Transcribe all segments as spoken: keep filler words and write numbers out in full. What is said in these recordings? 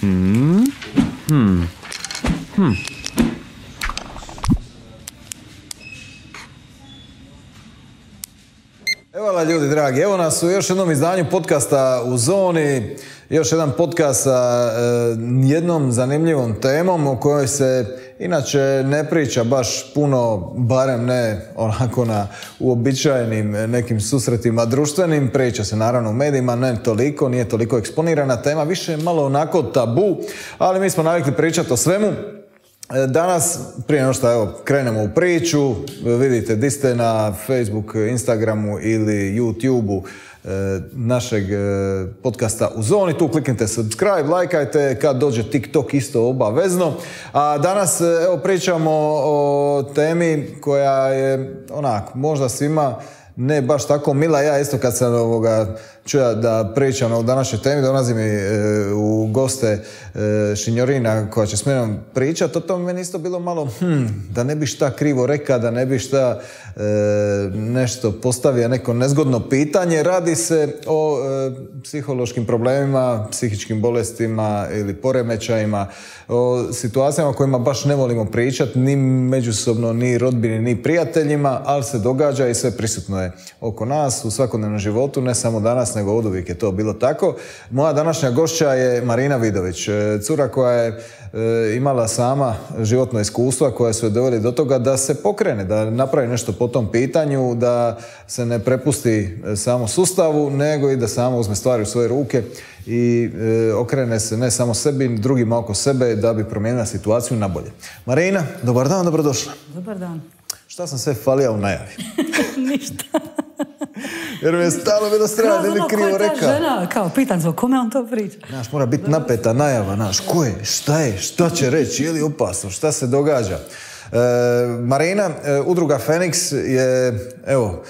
Hmm. Hmm. Hmm. Evo la ljudi dragi, evo nas u još jednom izdanju podcasta U zoni, još jedan podcast sa e, jednom zanimljivom temom o kojoj se inače ne priča baš puno, barem ne onako na uobičajenim nekim susretima društvenim, priča se naravno u medijima, ne toliko, nije toliko eksponirana tema, više je malo onako tabu, ali mi smo navikli pričati o svemu. Danas, prije nego što evo, krenemo u priču, vidite di ste na Facebook, Instagramu ili YouTubeu e, našeg e, podcasta U zoni, tu kliknite subscribe, lajkajte, kad dođe TikTok isto obavezno. A danas evo pričamo o temi koja je onak, možda svima ne baš tako mila. Ja isto kad sam ovoga čuo da pričam o današnjoj temi, dolazi mi e, u goste e, Šinjorina koja će s menom pričati, o tome meni isto bilo malo hm, da ne bi šta krivo reka, da ne bi šta e, nešto postavio, neko nezgodno pitanje. Radi se o e, psihološkim problemima, psihičkim bolestima ili poremećajima, o situacijama o kojima baš ne volimo pričati, ni međusobno, ni rodbini, ni prijateljima, ali se događa i sve prisutno je oko nas u svakodnevnom životu, ne samo danas, nego oduvijek je to bilo tako. Moja današnja gošća je Marina Vidović, cura koja je e, imala sama životno iskustva koja su je doveli do toga da se pokrene, da napravi nešto po tom pitanju, da se ne prepusti samo sustavu, nego i da sama uzme stvari u svoje ruke i e, okrene se ne samo sebi, drugima oko sebe da bi promijenila situaciju na bolje. Marina, dobar dan, dobrodošla. Dobar dan. Šta sam sve falija u najavi? Ništa. Jer mi je stalo bilo strana da li krivo rekao. Žena, kao, pitan se o kome on to priča. Naš, mora biti napeta najava, naš, ko je, šta je, šta će reći, je li opasno, šta se događa. E, Marina, e, udruga Feniks je, evo,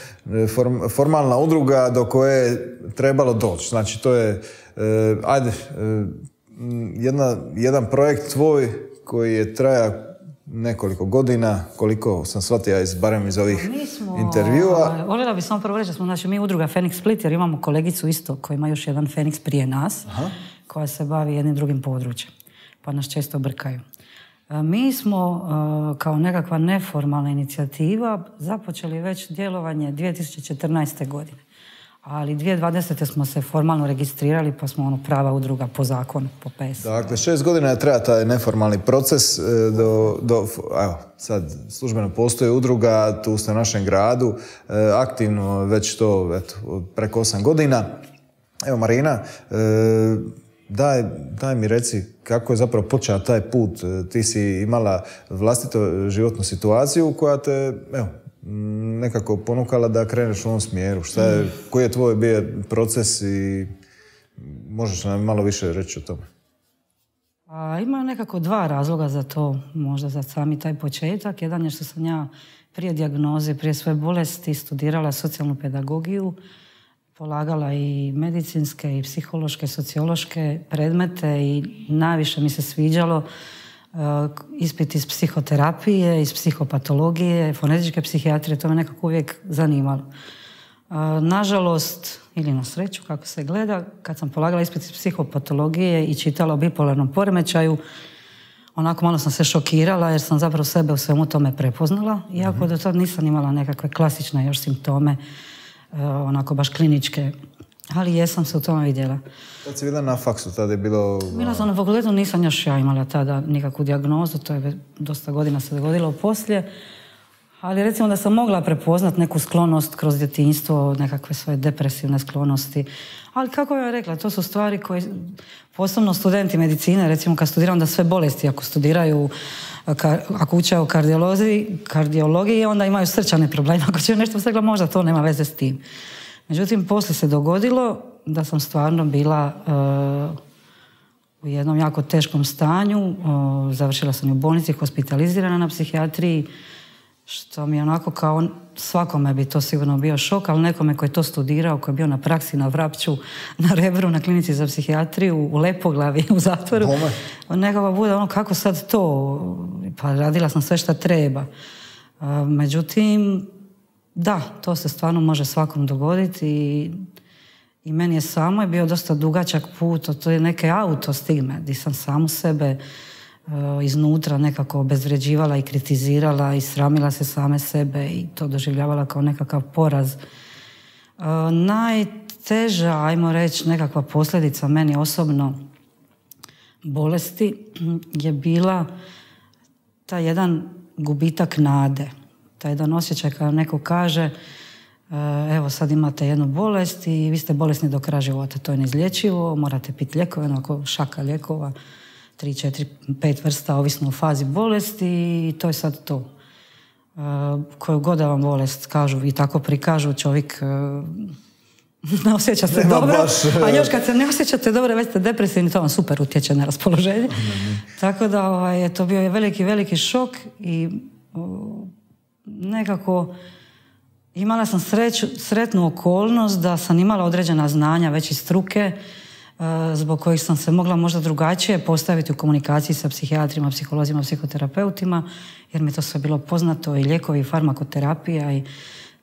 form, formalna udruga do koje je trebalo doći. Znači, to je, e, ajde, e, jedna, jedan projekt tvoj koji je traja nekoliko godina, koliko sam shvatio iz, barem iz ovih smo, intervjua. Voljela bih samo prvo reći da smo, znači, mi udruga Feniks Split, jer imamo kolegicu isto koja ima još jedan Feniks prije nas, aha, koja se bavi jednim drugim područjem, pa nas često brkaju. Mi smo kao nekakva neformalna inicijativa započeli već djelovanje dvije tisuće četrnaeste. godine. Ali dvije tisuće dvadesete. smo se formalno registrirali, pa smo ono prava udruga po zakonu, po P E S. Dakle, šest godina je traja taj neformalni proces. Do, do, evo, sad službeno postoji udruga, tu ste u našem gradu, aktivno već to eto, preko osam godina. Evo, Marina, daj, daj mi reci kako je zapravo počeo taj put. Ti si imala vlastitu životnu situaciju koja te, evo, nekako ponukala da kreneš u ovom smjeru. Šta je, koji je tvoj bio proces i možeš nam malo više reći o tome? A, ima nekako dva razloga za to, možda za sami taj početak. Jedan je što sam ja prije dijagnoze, prije svoje bolesti studirala socijalnu pedagogiju, polagala i medicinske i psihološke, sociološke predmete i najviše mi se sviđalo Uh, ispit iz psihoterapije, iz psihopatologije, fonetičke psihijatrije, to me nekako uvijek zanimalo. Uh, nažalost, ili na sreću, kako se gleda, kad sam polagala ispit iz psihopatologije i čitala o bipolarnom poremećaju, onako malo sam se šokirala jer sam zapravo sebe u svemu tome prepoznala, iako mm-hmm. do tad nisam imala nekakve klasične još simptome, uh, onako baš kliničke, ali jesam se u tome vidjela. Tad si bila na faksu, tada je bilo... Bila sam na fakultetu, nisam još ja imala tada nikakvu dijagnozu, to je dosta godina se dogodilo poslije, ali recimo da sam mogla prepoznat neku sklonost kroz djetinjstvo, nekakve svoje depresivne sklonosti, ali kako bih rekla, to su stvari koje, posebno studenti medicine, recimo kad studiram da sve bolesti, ako studiraju, ako uče o kardiologiji, kardiologiji, onda imaju srčane probleme, ako će nešto stegla, možda to nema veze s tim. Međutim, poslije se dogodilo da sam stvarno bila uh, u jednom jako teškom stanju. Uh, završila sam u bolnici, hospitalizirana na psihijatriji, što mi je onako kao svakome bi to sigurno bio šok, ali nekome koji je to studirao, koji je bio na praksi na Vrapču, na Rebru, na klinici za psihijatriju, u Lepoglavi, u zatvoru, nekako bude ono kako sad to, pa radila sam sve što treba. Uh, međutim, da, to se stvarno može svakom dogoditi i I meni je samo je bio dosta dugačak put, to je neke autostigme, gdje sam samu sebe uh, iznutra nekako obezvređivala i kritizirala i sramila se same sebe i to doživljavala kao nekakav poraz. Uh, najteža, ajmo reći, nekakva posljedica meni osobno bolesti je bila taj jedan gubitak nade. Taj jedan osjećaj kada neko kaže evo sad imate jednu bolest i vi ste bolesni do kraja života, to je neizlječivo, morate piti lijekove, onako šaka lijekova, tri, četiri, pet vrsta, ovisno o fazi bolesti i to je sad to. Koju god da vam bolest kažu i tako prikažu, čovjek ne osjeća se dobro, baš, a još kad se ne osjećate dobro, već ste depresivni, to vam super utječe na raspoloženje. Mm-hmm. Tako da ovaj, je to bio je veliki, veliki šok i o, nekako imala sam sreću, sretnu okolnost da sam imala određena znanja već iz struke, uh, zbog kojih sam se mogla možda drugačije postaviti u komunikaciji sa psihijatrima, psiholozima, psihoterapeutima, jer mi to sve bilo poznato i lijekovi, i farmakoterapija i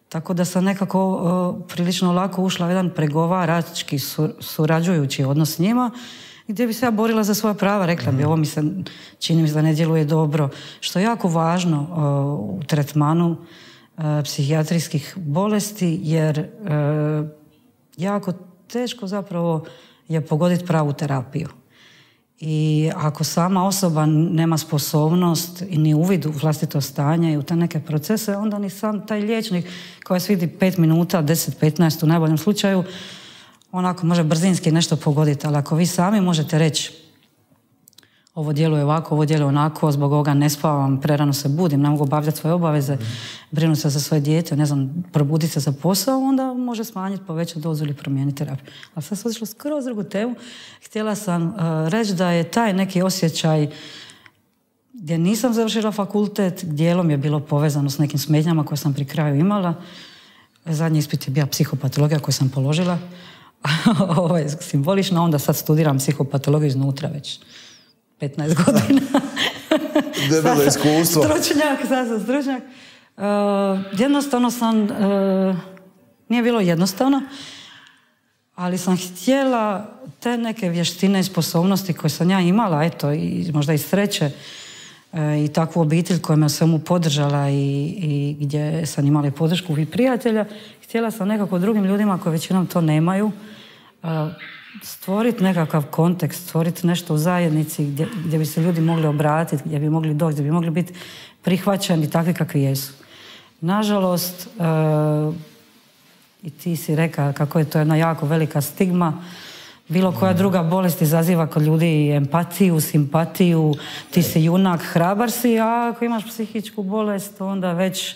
tako da sam nekako uh, prilično lako ušla u jedan pregovarački sur, surađujući odnos s njima, gdje bi se ja borila za svoja prava, rekla bi, ovo mi se čini mi se da ne djeluje dobro, što je jako važno uh, u tretmanu uh, psihijatrijskih bolesti, jer uh, jako teško zapravo je pogoditi pravu terapiju. I ako sama osoba nema sposobnost i ni uvid u vlastito stanje i u te neke procese, onda ni sam taj liječnik koji se vidi pet minuta, deset, petnaest u najboljem slučaju, onako može brzinski nešto pogoditi, ali ako vi sami možete reći ovo djeluje ovako, ovo djeluje onako, zbog ovoga ne spavam, prerano se budim, ne mogu obavljati svoje obaveze, brinu se za svoje dijete, ne znam, probuditi se za posao, onda može smanjiti, povećati dozu ili promijeniti terapiju. Ali sad sam otišla skroz drugu temu. Htjela sam uh, reći da je taj neki osjećaj gdje nisam završila fakultet, dijelom je bilo povezano s nekim smetnjama koje sam pri kraju imala. Zadnji ispit je bio psihopatologija koju sam položila. Ovo je simbolično, onda sad studiram psihopatologiju iznutra već petnaest godina. Debelo iskustvo. Stručnjak, sad sam stručnjak. Uh, jednostavno sam, uh, nije bilo jednostavno, ali sam htjela te neke vještine i sposobnosti koje sam ja imala, eto, i možda i sreće, uh, i takvu obitelj koja me svemu podržala i, i gdje sam imala i podršku i prijatelja, htjela sam nekako drugim ljudima koji većinom to nemaju, uh, stvoriti nekakav kontekst, stvoriti nešto u zajednici gdje, gdje bi se ljudi mogli obratiti, gdje bi mogli doći, gdje bi mogli biti prihvaćeni takvi kakvi jesu. Nažalost, uh, i ti si rekao kako je to jedna jako velika stigma, bilo koja druga bolest izaziva kod ljudi empatiju, simpatiju, ti si junak, hrabar si, a ako imaš psihičku bolest, onda već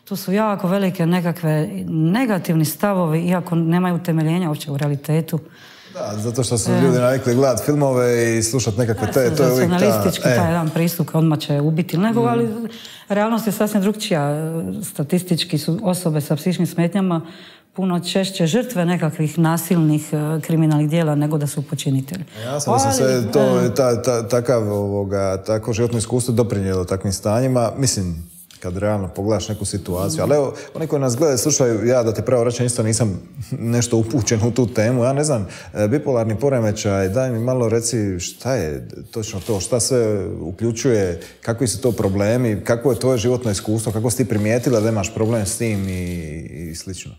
tu su jako velike nekakve negativni stavovi, iako nemaju temeljenja uopće u realitetu. Da, zato što su ljudi navikli gledati filmove i slušati nekakve te, to je uvijek ta... Senzacionalistički taj jedan pristup, odmah će ubiti nekoga, ali realnost je sasvim drugčija. Statistički su osobe sa psihičkim smetnjama puno češće žrtve nekakvih nasilnih kriminalnih djela nego da su počinitelji. Ja sam mislim se to, ta, ta, takav, ovoga, tako životno iskustvo doprinijelo takvim stanjima. Mislim, kad realno pogledaš neku situaciju. Ali evo, oni koji nas gledaju, slušaju, ja da te pravo rečem, isto nisam nešto upućen u tu temu. Ja ne znam, bipolarni poremećaj, daj mi malo reci šta je točno to, šta sve uključuje, kakvi su to problemi, kako je tvoje životno iskustvo, kako si ti primijetila da imaš problem s tim i, i slično.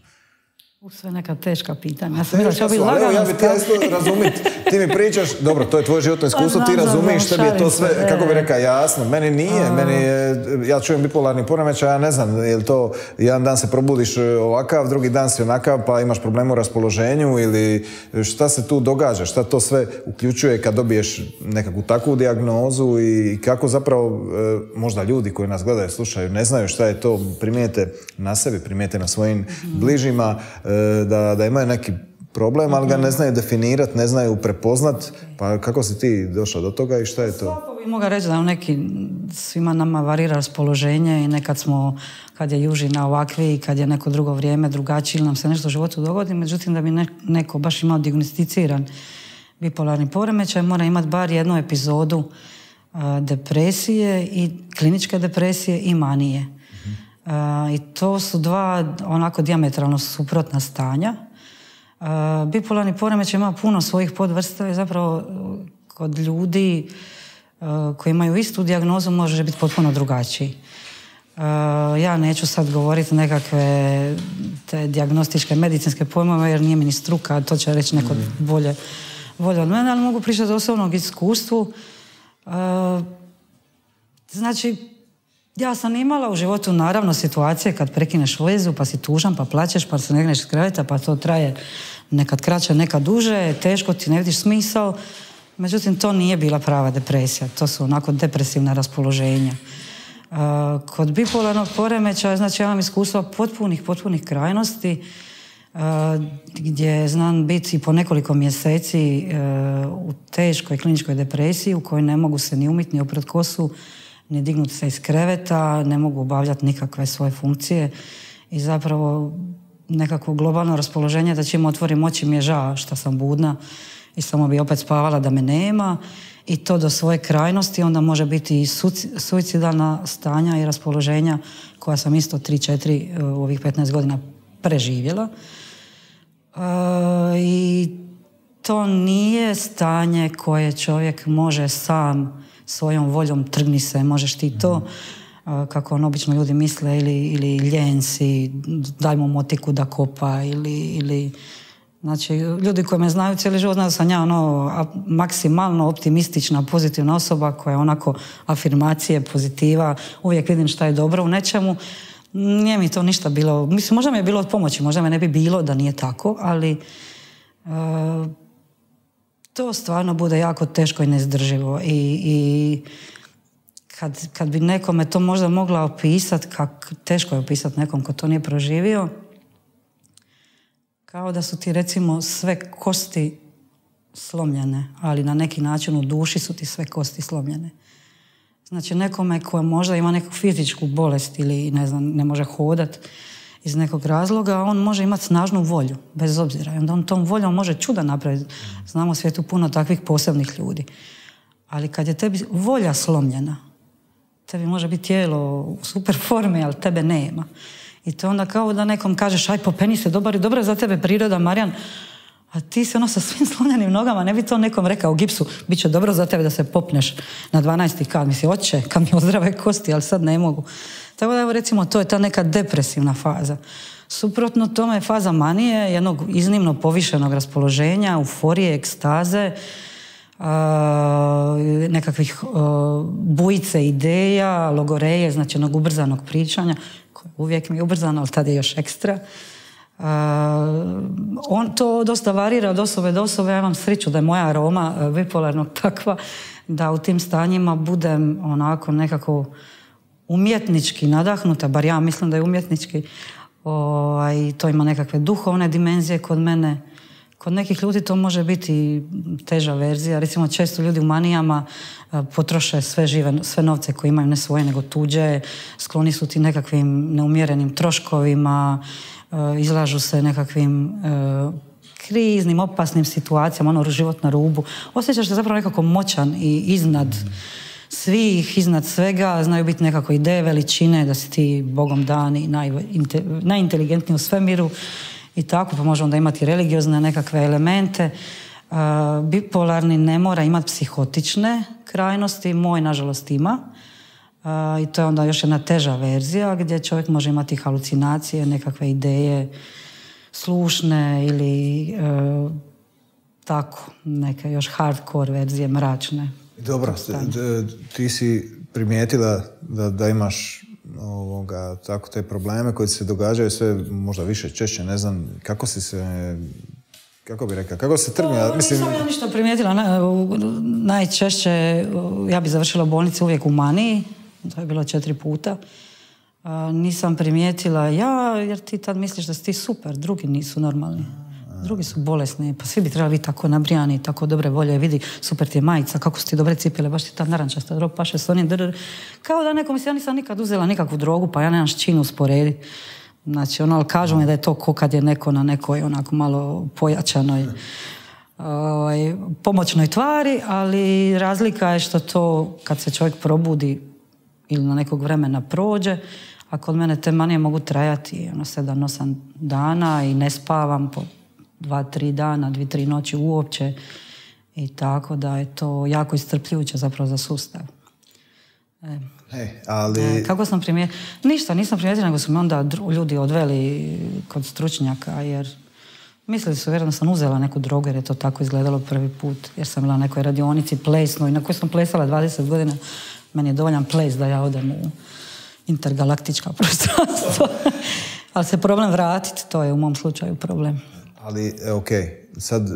U sve neka teška pitanja. Ja sam bila će biti lagano. Ja bi ti isto razumjeti. Ti mi pričaš, dobro, to je tvoje životno iskustvo, ti razumiješ, tebi je to sve, kako bi rekao, jasno. Meni nije, meni je, ja čujem bipolarni poremećaj, ja ne znam, je li to jedan dan se probudiš ovakav, drugi dan si onakav, pa imaš problem u raspoloženju ili šta se tu događa, šta to sve uključuje kad dobiješ nekakvu takvu dijagnozu i kako zapravo možda ljudi koji nas gledaju, slušaju, ne znaju šta je to, primijete na sebi, primijete na svojim bližima, Da, da imaju neki problem, ali ga ne znaju definirati, ne znaju prepoznat. Pa kako si ti došla do toga i šta je to? Svako bi mogao reći da neki svima nama varira raspoloženje i nekad smo, kad je južina ovakvi i kad je neko drugo vrijeme drugačije ili nam se nešto u životu dogodi, međutim da bi neko baš imao dijagnosticiran bipolarni poremećaj, mora imati bar jednu epizodu uh, depresije i kliničke depresije i manije. Uh, I to su dva onako dijametralno suprotna stanja. Uh, Bipolarni poremećaj ima puno svojih podvrsta i zapravo kod ljudi koji imaju istu dijagnozu može biti potpuno drugačiji. Ja neću sad govoriti nekakve te dijagnostičke medicinske pojmove jer nije mi ni struka, to će reći neko bolje, bolje od mene, ali mogu pričati o osobnog iskustvu. Znači, ja sam imala u životu naravno situacije kad prekineš vezu pa si tužan, pa plačeš, pa se negneš iz kreveta, pa to traje nekad kraće, nekad duže, teško ti, ne vidiš smisao. Međutim, to nije bila prava depresija, to su onako depresivna raspoloženja. Uh, kod bipolarnog poremećaja, znači ja imam iskustva potpunih, potpunih krajnosti, uh, gdje znam biti po nekoliko mjeseci uh, u teškoj kliničkoj depresiji u kojoj ne mogu se ni umiti, ni oprat kosu, ni dignuti se iz kreveta, ne mogu obavljati nikakve svoje funkcije i zapravo nekakvo globalno raspoloženje da čim otvorim oči mi je žao što sam budna i samo bi opet spavala da me nema i to do svoje krajnosti onda može biti i suicidalna stanja i raspoloženja koja sam isto tri četiri u ovih petnaest godina preživjela. E, I to nije stanje koje čovjek može sam svojom voljom, trgni se, možeš ti to, kako on obično ljudi misle, ili, ili ljen si, daj mu motiku da kopa, ili, ili znači, ljudi koji me znaju cijeli život znaju da sam ja ono, maksimalno optimistična, pozitivna osoba koja onako afirmacije, pozitiva, uvijek vidim šta je dobro u nečemu. Nije mi to ništa bilo, mislim, možda mi je bilo od pomoći, možda me ne bi bilo da nije tako, ali uh, to stvarno bude jako teško i neizdrživo i, i kad, kad bi nekome to možda mogla opisati, kak, teško je opisati nekom ko to nije proživio, kao da su ti recimo sve kosti slomljene, ali na neki način u duši su ti sve kosti slomljene. Znači nekome ko možda ima neku fizičku bolest ili ne znam, ne može hodat iz nekog razloga, on može imati snažnu volju, bez obzira. I onda on tom voljom može čuda napraviti. Znamo u svijetu puno takvih posebnih ljudi. Ali kad je tebi volja slomljena, tebi može biti tijelo u super formi, ali tebe nema. I to onda kao da nekom kažeš, aj popeni se, dobar, dobro je za tebe priroda, Marijan, a ti si ono sa svim slomljenim nogama, ne bi to nekom rekao u gipsu, bit će dobro za tebe da se popneš na dvanaesti kat. Misli, oće, kad mi ozdrave kosti, ali sad ne mogu. Tako da, evo, recimo, to je ta neka depresivna faza. Suprotno tome je faza manije, jednog iznimno povišenog raspoloženja, euforije, ekstaze, uh, nekakvih uh, bujice ideja, logoreje, znači jednog ubrzanog pričanja, koje uvijek mi je ubrzano, ali tad je još ekstra. Uh, on to dosta varira od osobe do osobe. Ja imam sreću da je moja aroma uh, bipolarnog takva da u tim stanjima budem onako nekako umjetnički nadahnuta, bar ja mislim da je umjetnički. O, i to ima nekakve duhovne dimenzije kod mene. Kod nekih ljudi to može biti teža verzija. Recimo, često ljudi u manijama uh, potroše sve žive, sve novce koje imaju, ne svoje nego tuđe, skloni su ti nekakvim neumjerenim troškovima, uh, izlažu se nekakvim uh, kriznim, opasnim situacijama, ono, život na rubu. Osjećaš se zapravo nekako moćan i iznad svih, iznad svega, znaju biti nekako ideje veličine, da si ti Bogom dan i naj, inte, najinteligentniji u svemiru i tako, pa može onda imati religiozne nekakve elemente. Uh, bipolarni ne mora imati psihotične krajnosti, moj nažalost ima. Uh, I to je onda još jedna teža verzija gdje čovjek može imati halucinacije, nekakve ideje slušne ili uh, tako, neke još hardcore verzije, mračne. Dobro, ti si primijetila da, da imaš ovoga, tako te probleme koji se događaju sve možda više, češće, ne znam, kako si se, kako bi rekao, kako se trgnja? No, mislim... Nisam ja ništa primijetila, najčešće ja bi završila u bolnici uvijek u maniji, to je bilo četiri puta. Nisam primijetila ja, jer ti tad misliš da si ti super, drugi nisu normalni. Drugi su bolesni, pa svi bi trebali biti tako nabrijani, tako dobre volje, vidi, super ti je majica, kako su ti dobre cipele, baš ti ta narančasta droga paše s onim drr. Kao da neko misli, ja nisam nikad uzela nikakvu drogu, pa ja nemam s čim usporediti. Znači, ono, ali kažu mi da je to ko kad je neko na nekoj onako malo pojačanoj ovaj, pomoćnoj tvari, ali razlika je što to kad se čovjek probudi ili na nekog vremena prođe, a kod mene te manije mogu trajati ono, sedam, osam dana i ne spavam po dva, tri dana, dvi, tri noći uopće. I tako da je to jako iscrpljujuće zapravo za sustav. E. Hey, ali... e, kako sam primijetila? Ništa, nisam primijetila, nego su me onda ljudi odveli kod stručnjaka, jer mislili su vjerojatno sam uzela neku drogu, jer je to tako izgledalo prvi put, jer sam bila na nekoj radionici plesnoj, na kojoj sam plesala dvadeset godina. Meni je dovoljan ples da ja odem u intergalaktička prostranstva. Ali se problem vratiti, to je u mom slučaju problem. Ali, ok, sad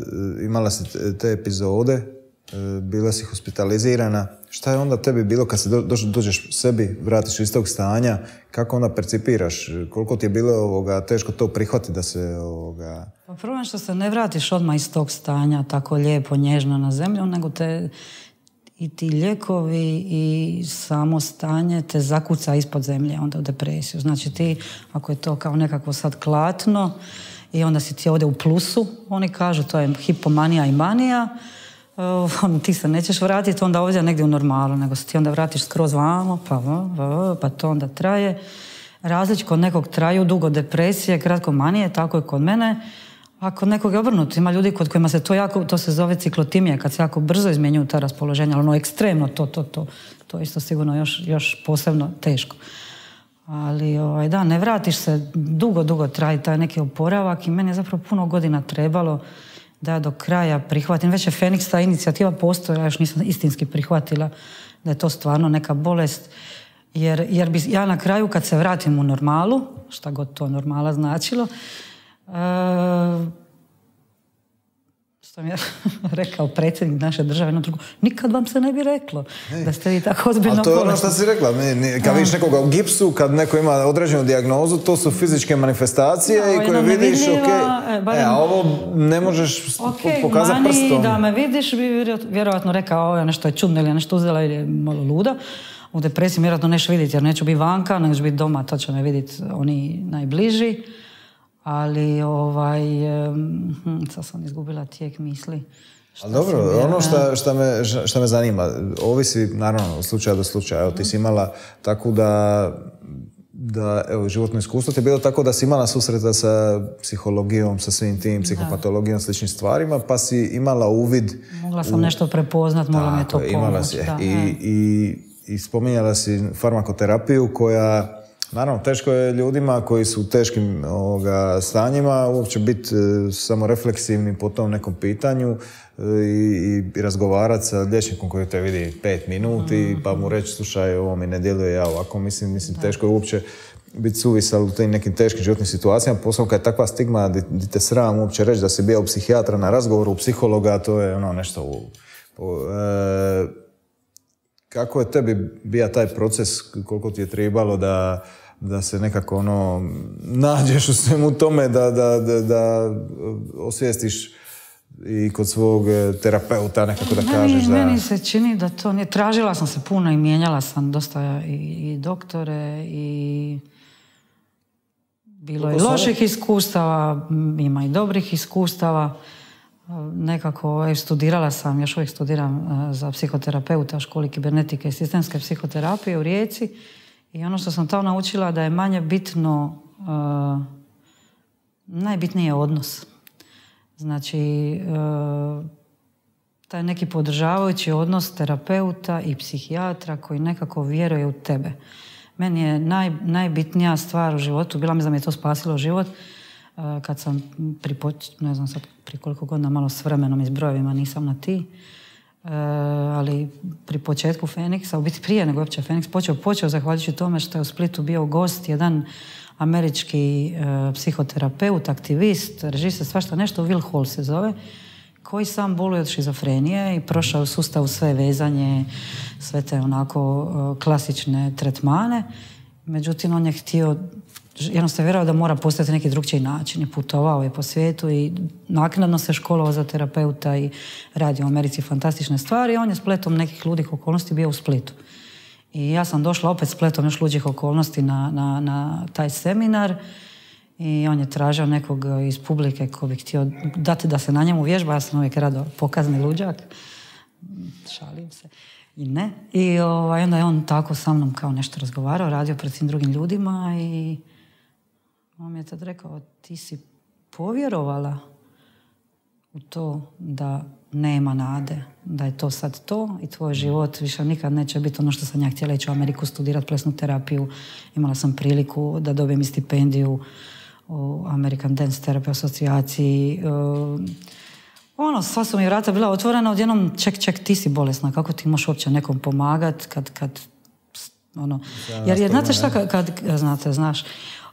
imala si te epizode, bila si hospitalizirana. Šta je onda tebi bilo kad se do, dođeš sebi, vratiš iz tog stanja, kako onda percipiraš? Koliko ti je bilo ovoga, teško to prihvatiti da se... Ovoga... Pa problem što se ne vratiš odmah iz tog stanja tako lijepo, nježno na zemlju, nego te i ti lijekovi i samo stanje te zakuca ispod zemlje, onda u depresiju. Znači ti, ako je to kao nekako sad klatno i onda si ti ovdje u plusu, oni kažu to je hipomanija i manija, uh, ti se nećeš vratiti onda ovdje negdje u normalu, nego se ti onda vratiš skroz vamo, pa, pa to onda traje. Različ kod nekog traju dugo depresije, kratko manije, tako je kod mene. A kod nekog je obrnuto. Ima ljudi kod kojima se to jako, to se zove ciklotimija, kad se jako brzo izmjenjuju ta raspoloženja, ali ono ekstremno, to, to, to, to je isto sigurno još, još posebno teško. Ali ovaj, da, ne vratiš se, dugo, dugo traji taj neki oporavak i meni je zapravo puno godina trebalo da do kraja prihvatim. Već je Feniks, ta inicijativa postoji, ja još nisam istinski prihvatila da je to stvarno neka bolest. Jer, jer bi ja na kraju kad se vratim u normalu, šta god to normala značilo, Uh, što mi je rekao predsjednik naše države na drugu, nikad vam se ne bi reklo Ej. da ste vi tako ozbiljno bolesni. A to je ono što si rekla, kad vidiš nekoga u gipsu, kad neko ima određenu dijagnozu, to su fizičke manifestacije no, i koje vidiš, ok, e, barem, e, a ovo ne možeš okay, pokazati prstom. Da me vidiš, bi vjerojatno rekao, ovo nešto je čudno ili nešto uzela ili je malo luda. U depresiji vjerojatno neću vidjeti, jer neću biti vanka, nego ću biti doma, to će me vidjeti oni najbliži. Ali, ovaj, hm, sad sam izgubila tijek misli. Ali dobro, ono šta, šta, me, šta me zanima, ovisi naravno od slučaja do slučaja. Evo, ti si imala tako da, da evo, životno iskustvo ti je bilo tako da si imala susreta sa psihologijom, sa svim tim, psihopatologijom, sličnim stvarima, pa si imala uvid... Mogla sam u... nešto prepoznat, mogla mi je to pomoć. I, i, i spominjala si farmakoterapiju koja... Naravno, teško je ljudima koji su u teškim ovoga, stanjima uopće biti e, samo refleksivni po tom nekom pitanju e, i, i razgovarati sa liječnikom koji te vidi pet minuti mm-hmm. pa mu reći slušaj, ovo mi ne djeluje ja ovako. Mislim, mislim teško je uopće biti suvisal u tim nekim teškim životnim situacijama. Posebno kad je takva stigma di te sram uopće reći da si bio u psihijatra na razgovoru, u psihologa, to je ono nešto u... u e, kako je tebi bio taj proces, koliko ti je trebalo da, da se nekako ono, nađeš u svemu tome, da, da, da, da osvijestiš i kod svog terapeuta nekako da kažeš meni, da... Meni se čini da to nije... Tražila sam se puno i mijenjala sam dosta i, i doktore i... Bilo je loših iskustava, ima i dobrih iskustava. Nekako studirala sam, još uvijek studiram za psihoterapeuta u školi kibernetike i sistemske psihoterapije u Rijeci i ono što sam tamo naučila da je manje bitno, uh, najbitniji je odnos. Znači, uh, taj neki podržavajući odnos terapeuta i psihijatra koji nekako vjeruje u tebe. Meni je naj, najbitnija stvar u životu, bila mi da mi je to spasilo život, kad sam pri, ne znam sad pri koliko godina, malo s vremenom i s brojevima nisam na ti, e, ali pri početku Feniksa, u biti prije nego uopće Feniks počeo, počeo zahvaljujući tome što je u Splitu bio gost jedan američki e, psihoterapeut, aktivist, režiser, svašta nešto, Will Hall se zove, koji sam boluje od šizofrenije i prošao u sustavu sve vezanje, sve te onako e, klasične tretmane. Međutim, on je htio, jednostavno vjerovao da mora postati neki drugčiji način. I putovao je po svijetu i naknadno se školovao za terapeuta i radio u Americi fantastične stvari. On je spletom nekih ludih okolnosti bio u Splitu. I ja sam došla opet spletom još luđih okolnosti na, na, na taj seminar i on je tražio nekog iz publike ko bi htio dati da se na njemu vježba. Ja sam uvijek rado pokazni luđak. Šalim se. I ne. I ovaj, onda je on tako sa mnom kao nešto razgovarao, radio pred svim drugim ljudima i on mi je tad rekao, ti si povjerovala u to da nema nade, da je to sad to i tvoj život više nikad neće biti ono što sam ja htjela ići u Ameriku studirati plesnu terapiju. Imala sam priliku da dobijem stipendiju u American Dance Therapy asocijaciji. Ono, sva su mi vrata bila otvorena, odjednom ček, ček, ti si bolesna, kako ti možeš uopće nekom pomagat kad, kad ono, jer je, znate šta, kad, kad znate, znaš,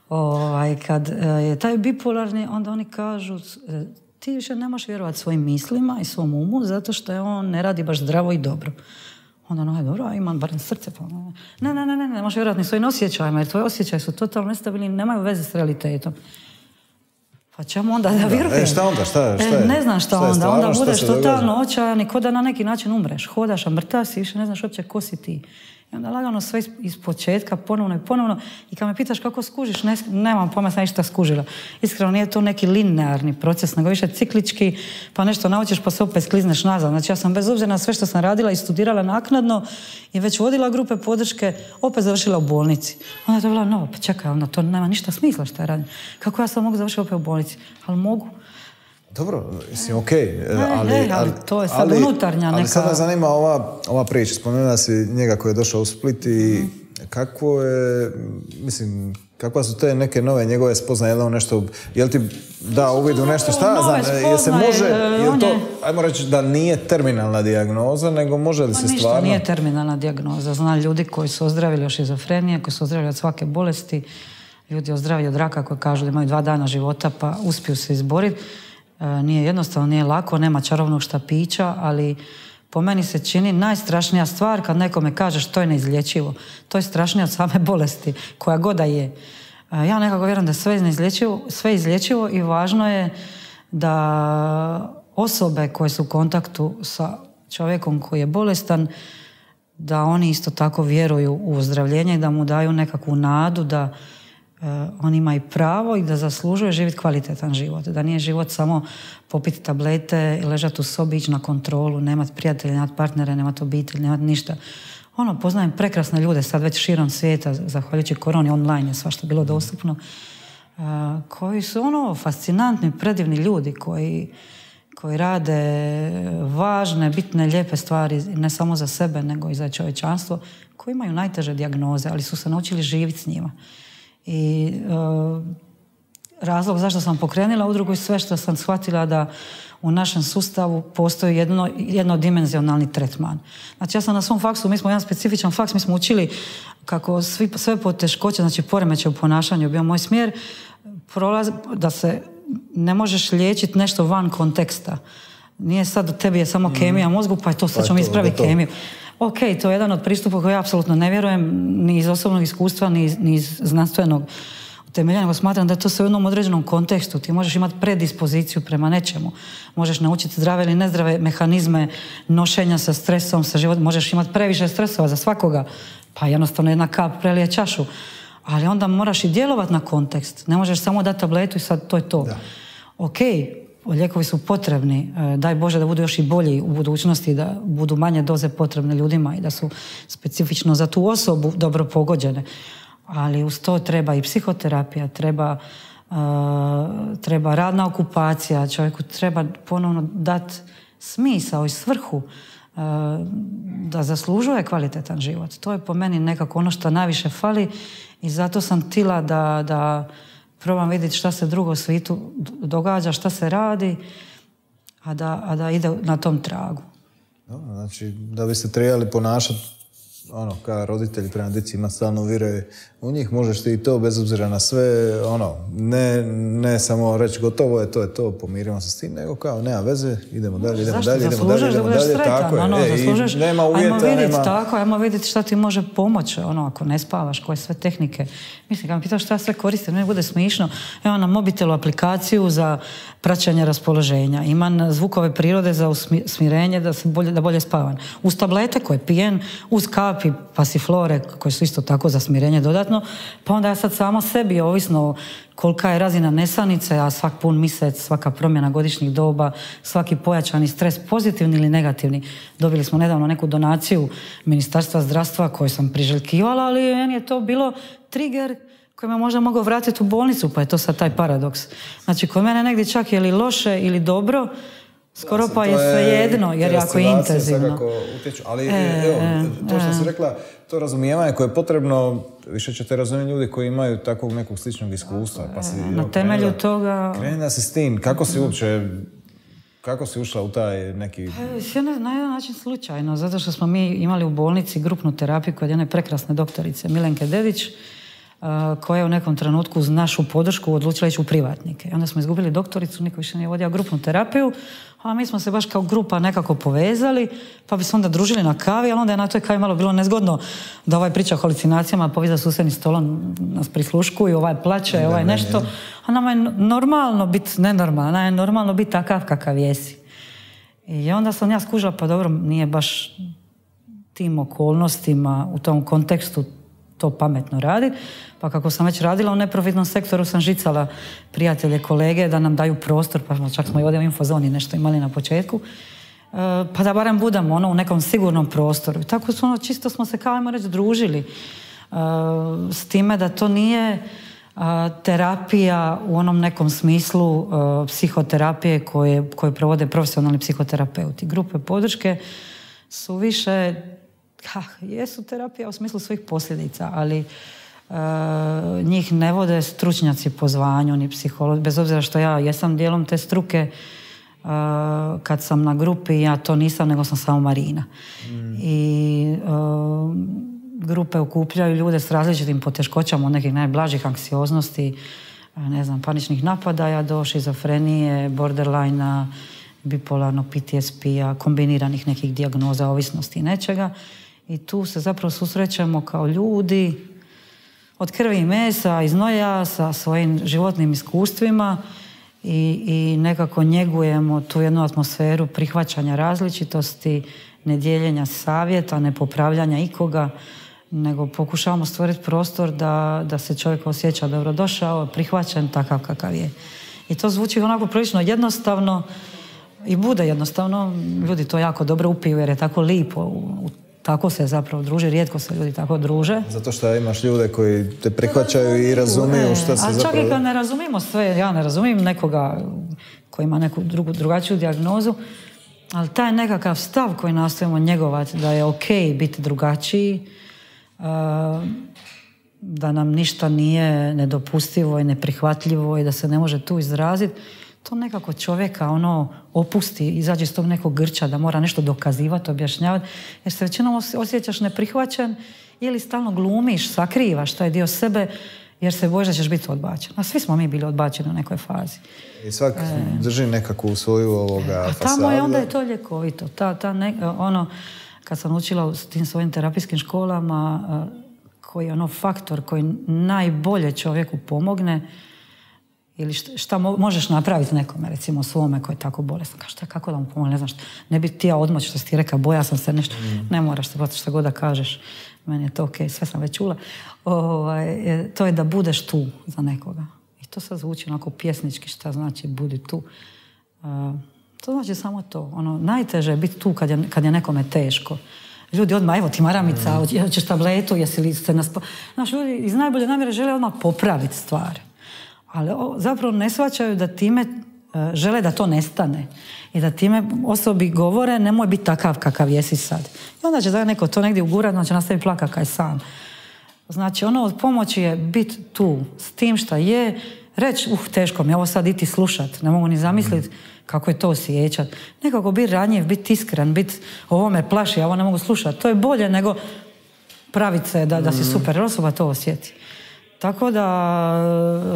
ovaj, kad je taj bipolarni, onda oni kažu, ti više ne možeš vjerovati svojim mislima i svom umu, zato što je on ne radi baš zdravo i dobro. Onda ono je dobro, a imam barem srce. Pa ne, ne, ne, ne, ne možeš vjerovati ni svojim osjećajima, jer tvoji osjećaji su totalno nestabilni i nemaju veze s realitetom. Pa čemu onda da vjerujem? E, šta onda? Šta, šta je? Ne znam šta, šta onda. Stvarno, onda budeš totalno očajan i ko da na neki način umreš. Hodaš, a mrtav si, više ne znaš uopće ko si ti. I onda lagano sve iz, iz početka, ponovno i ponovno. I kad me pitaš kako skužiš, ne, nemam pojma, sam ništa skužila. Iskreno, nije to neki linearni proces, nego više ciklički, pa nešto naučiš pa se opet sklizneš nazad. Znači ja sam bez obzira na sve što sam radila i studirala naknadno i već vodila grupe podrške, opet završila u bolnici. Onda je to bila, no, pa čekaj, onda to nema ništa smisla što je radim. Kako ja sad mogu završiti opet u bolnici? Ali mogu. Dobro, mislim, okej. Okay, ali, ali, ali to je sad ali, unutarnja neka... Ali sad me zanima ova, ova priča. Spomenula si njega koji je došao u Split i mm. kako je, mislim, kakva su te neke nove njegove spoznaje, je li on nešto, je li ti da uvid u nešto, šta, znam, je se može, je to, ajmo reći da nije terminalna dijagnoza, nego može li pa se ništa stvarno... Ništa nije terminalna dijagnoza. Znam ljudi koji su ozdravili od šizofrenije, koji su ozdravili od svake bolesti, ljudi ozdravili od raka koji kažu da imaju dva dana života pa uspiju se izboriti. Nije jednostavno, nije lako, nema čarobnog štapića, ali po meni se čini najstrašnija stvar kad nekome kažeš to je neizlječivo. To je strašnije od same bolesti, koja god da je. Ja nekako vjerujem da je sve neizlječivo, sve izlječivo i važno je da osobe koje su u kontaktu sa čovjekom koji je bolestan, da oni isto tako vjeruju u ozdravljenje i da mu daju nekakvu nadu da on ima i pravo i da zaslužuje živjeti kvalitetan život. Da nije život samo popiti tablete, ležati u sobi, ići na kontrolu, nemati prijatelje, nemati partnere, nemati obitelj, nemati ništa. Ono, poznajem prekrasne ljude sad već širom svijeta, zahvaljujući koroni, online je svašta bilo dostupno, koji su ono fascinantni, predivni ljudi koji, koji rade važne, bitne, lijepe stvari ne samo za sebe, nego i za čovječanstvo, koji imaju najteže dijagnoze, ali su se naučili živjeti s njima. I uh, razlog zašto sam pokrenula udrugu i sve što sam shvatila da u našem sustavu postoji jedno, jednodimenzionalni tretman. Znači ja sam na svom faksu, mi smo jedan specifičan faks, mi smo učili kako svi, sve poteškoće, znači poremećaj u ponašanju, bio moj smjer, prolaz, da se ne možeš liječiti nešto van konteksta. Nije sad, u tebi je samo kemija mozgu, pa je to, sad ćemo ispraviti kemiju. Ok, to je jedan od pristupa koji ja apsolutno ne vjerujem, ni iz osobnog iskustva, ni iz, ni iz znanstvenog utemeljenja, nego smatram da je to sve u jednom određenom kontekstu. Ti možeš imati predispoziciju prema nečemu. Možeš naučiti zdrave ili nezdrave mehanizme nošenja sa stresom, sa životom. Možeš imati previše stresova za svakoga, pa jednostavno jedna kap prelije čašu. Ali onda moraš i djelovati na kontekst. Ne možeš samo dati tabletu i sad to je to. Da. Ok, lijekovi su potrebni, daj Bože da budu još i bolji u budućnosti, da budu manje doze potrebne ljudima i da su specifično za tu osobu dobro pogođene. Ali uz to treba i psihoterapija, treba, uh, treba radna okupacija, čovjeku treba ponovno dati smisao i svrhu uh, da zaslužuje kvalitetan život. To je po meni nekako ono što najviše fali i zato sam htjela da, da probam vidjeti šta se drugo u svijetu događa, šta se radi, a da, a da ide na tom tragu. Dobro, znači, da biste trebali ponašati ono, kao roditelji prema djeci ima stalno vire u njih, možeš ti i to bez obzira na sve, ono, ne, ne samo reći gotovo je, to je to, pomirimo se s tim, nego kao, nema veze, idemo dalje, idemo Zašto? dalje, idemo dalje, idemo dalje, sretan, tako ono, je, zaslužeš, e, nema uvjeta, ajmo vidjeti, nema... tako, ajmo vidjeti šta ti može pomoći, ono, ako ne spavaš, koje sve tehnike. Mislim, kad me pitaš šta ja sve koristim, ne bude smišno, evo na mobitelu aplikaciju za praćenje raspoloženja, imam zvukove prirode za smirenje, da, se bolje, da bolje spavam. Uz tablete koje pijem, uz kapi, pasiflore, koje su isto tako za smirenje dodatno, pa onda ja sad samo sebi, ovisno kolika je razina nesanice, a svak pun mjesec, svaka promjena godišnjih doba, svaki pojačani stres, pozitivni ili negativni. Dobili smo nedavno neku donaciju Ministarstva zdravstva koju sam priželjkivala, ali meni je to bilo trigger koji me možda mogao vratiti u bolnicu, pa je to sad taj paradoks. Znači, kod mene negdje čak je li loše ili dobro, Skoro pa je svejedno, jer jako je intenzivno. Utječu, ali e, evo, to što e. si rekla, to razumijevanje koje je potrebno, više ćete razumjeti ljudi koji imaju takvog nekog sličnog iskustva. Pa si, na evo, temelju krenila, toga... Krenila si s tim, kako si uopće, kako si ušla u taj neki... Pa, na jedan način slučajno, zato što smo mi imali u bolnici grupnu terapiju kod jedne prekrasne doktorice Milenke Dedić, koja je u nekom trenutku uz našu podršku odlučila ići u privatnike. I onda smo izgubili doktoricu, niko više nije vodio grupnu terapiju, a mi smo se baš kao grupa nekako povezali, pa bi se onda družili na kavi, ali onda je na toj kavi malo bilo nezgodno da ovaj priča o halucinacijama, pa vi za susjednim stolom nas prisluškuju, ovaj plaće, ne, ovaj ne, nešto. Ne. A nama je normalno biti nenormalno, nama je normalno biti takav kakav jesi. I onda sam ja skužila, pa dobro, nije baš tim okolnostima u tom kontekstu to pametno raditi. Pa kako sam već radila u neprofitnom sektoru, sam žicala prijatelje, kolege da nam daju prostor, pa čak smo i ovdje u Infozoni nešto imali na početku, pa da barem budemo ono, u nekom sigurnom prostoru. I tako su, ono, čisto smo se, kao ajmo reći, družili s time da to nije terapija u onom nekom smislu psihoterapije koje, koje provode profesionalni psihoterapeuti. Grupe podrške su više, ha, jesu terapija u smislu svojih posljedica, ali Uh, njih ne vode stručnjaci po zvanju ni psiholozi, bez obzira što ja jesam dijelom te struke. Uh, kad sam na grupi, ja to nisam, nego sam samo Marina. Mm. I uh, grupe okupljaju ljude s različitim poteškoćama, od nekih najblažih anksioznosti, ne znam, paničnih napadaja do šizofrenije, borderline-a, bipolarnog P T S P-a, kombiniranih nekih dijagnoza, ovisnosti i nečega. I tu se zapravo susrećemo kao ljudi od krvi i mesa, iz noja, sa svojim životnim iskustvima i, i nekako njegujemo tu jednu atmosferu prihvaćanja različitosti, nedjeljenja savjeta, nepopravljanja ikoga, nego pokušavamo stvoriti prostor da, da se čovjek osjeća dobrodošao, prihvaćen takav kakav je. I to zvuči onako prilično jednostavno i bude jednostavno. Ljudi to jako dobro upiju jer je tako lipo u, u tako se zapravo druži, rijetko se ljudi tako druže. Zato što imaš ljude koji te prihvaćaju i razumiju šta se zapravo... A čak i kad ne razumijemo sve, ja ne razumijem nekoga koji ima neku drugu, drugačiju dijagnozu, ali taj nekakav stav koji nastojimo njegovati, da je okej biti drugačiji, da nam ništa nije nedopustivo i neprihvatljivo i da se ne može tu izraziti, to nekako čovjeka ono opusti, izađe iz tog nekog grča da mora nešto dokazivati, objašnjavati, jer se većinom osjećaš neprihvaćen ili stalno glumiš, sakrivaš taj dio sebe jer se bojiš da ćeš biti odbačen. A svi smo mi bili odbačeni u nekoj fazi. I svak e, drži nekakvu svoju ovoga fasadu. A tamo je onda je to ljekovito. Ta, ta ne, ono, kad sam učila u tim svojim terapijskim školama, koji je ono faktor koji najbolje čovjeku pomogne, ili šta, šta možeš napraviti nekome, recimo svome koji je tako bolestan. Kao šta, kako da mu pomoći, ne znam šta. Ne bi ti ja odmoć što si ti rekao, boja sam se nešto. Mm. Ne moraš se bati šta god da kažeš. Meni je to okej, okay, sve sam već čula. Ovaj, to je da budeš tu za nekoga. I to sad zvuči onako pjesnički šta znači budi tu. Uh, to znači samo to. Ono, najteže je biti tu kad je, kad je nekome teško. Ljudi odmah, evo ti maramica, mm. hoćeš tabletu, jesi li se nas... Znaš, ljudi iz najbolje namjere žele odmah popraviti stvari. Ali zapravo ne shvaćaju da time uh, žele da to nestane. I da time osobi govore nemoj biti takav kakav jesi sad. I onda će da neko to negdje ugurati, onda će nastaviti plakati kaj sam. Znači ono od pomoći je biti tu s tim šta je, reći uh teško mi je ovo sad iti slušat, ne mogu ni zamisliti kako je to osjećat. Nekako biti ranjiv, biti iskren, biti ovo me plaši, ja ovo ne mogu slušati. To je bolje nego praviti se da, da si super, jer osoba to osjeti. Tako da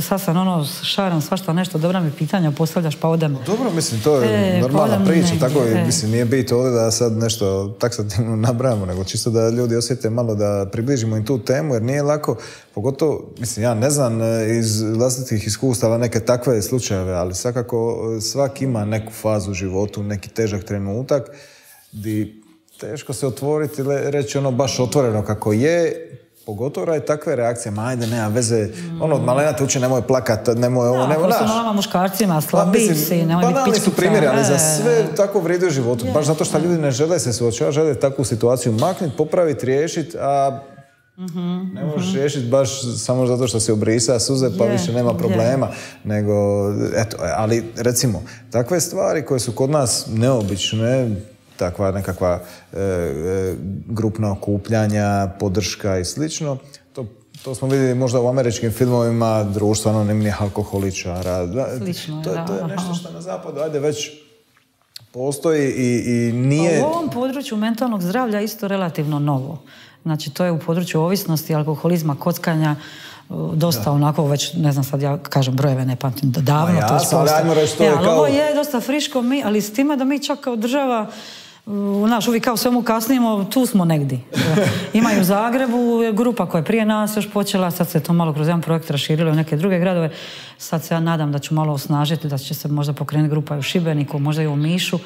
sad sam ono šaram svašta nešto, dobra mi pitanja postavljaš pa odem. Dobro, mislim, to je e, normalna pa priča, negdje, tako e. mislim, nije bit ovdje da sad nešto taksativno nabrajamo, nego čisto da ljudi osjete malo da približimo im tu temu, jer nije lako, pogotovo, mislim, ja ne znam iz vlastitih iskustava neke takve slučajeve, ali svakako svak ima neku fazu u životu, neki težak trenutak, di teško se otvoriti, reći ono baš otvoreno kako je, pogotovo radi takve reakcije, ma ajde, nema veze, mm. ono, malena te uči, nemoj plakat, nemoj ovo, nemoj, naš. Ako su nama muškarcima, slabi si, nemoj biti pičkica. Su primjeri, ali za sve tako vrijedi u životu, baš zato što ljudi ne žele se suočavati, žele takvu situaciju makniti, popraviti, riješiti, a Mm-hmm. Ne možeš riješiti baš samo zato što si obrisa suze pa yeah, više nema problema. Yeah. Nego, eto, ali recimo, takve stvari koje su kod nas neobične, takva nekakva e, e, grupna okupljanja, podrška i slično, to, to smo vidjeli možda u američkim filmovima, društvo anonimnih alkoholičara. Slično, to, da. To je nešto što na zapadu, ajde, već postoji i, i nije... U ovom području mentalnog zdravlja isto relativno novo. Znači, to je u području ovisnosti, alkoholizma, kockanja, dosta da. Onako već, ne znam sad ja kažem brojeve, ne pamtim, davno ja, to je posto. Ja, ali kao... ovo je dosta friško, mi, ali s time da mi čak kao država, znaš, uvijek kao svemu kasnimo, tu smo negdje. Ima i u Zagrebu grupa koja je prije nas još počela, sad se to malo kroz jedan projekt raširilo u neke druge gradove, sad se ja nadam da ću malo osnažiti, da će se možda pokrenuti grupa i u Šibeniku, možda i u Omišu,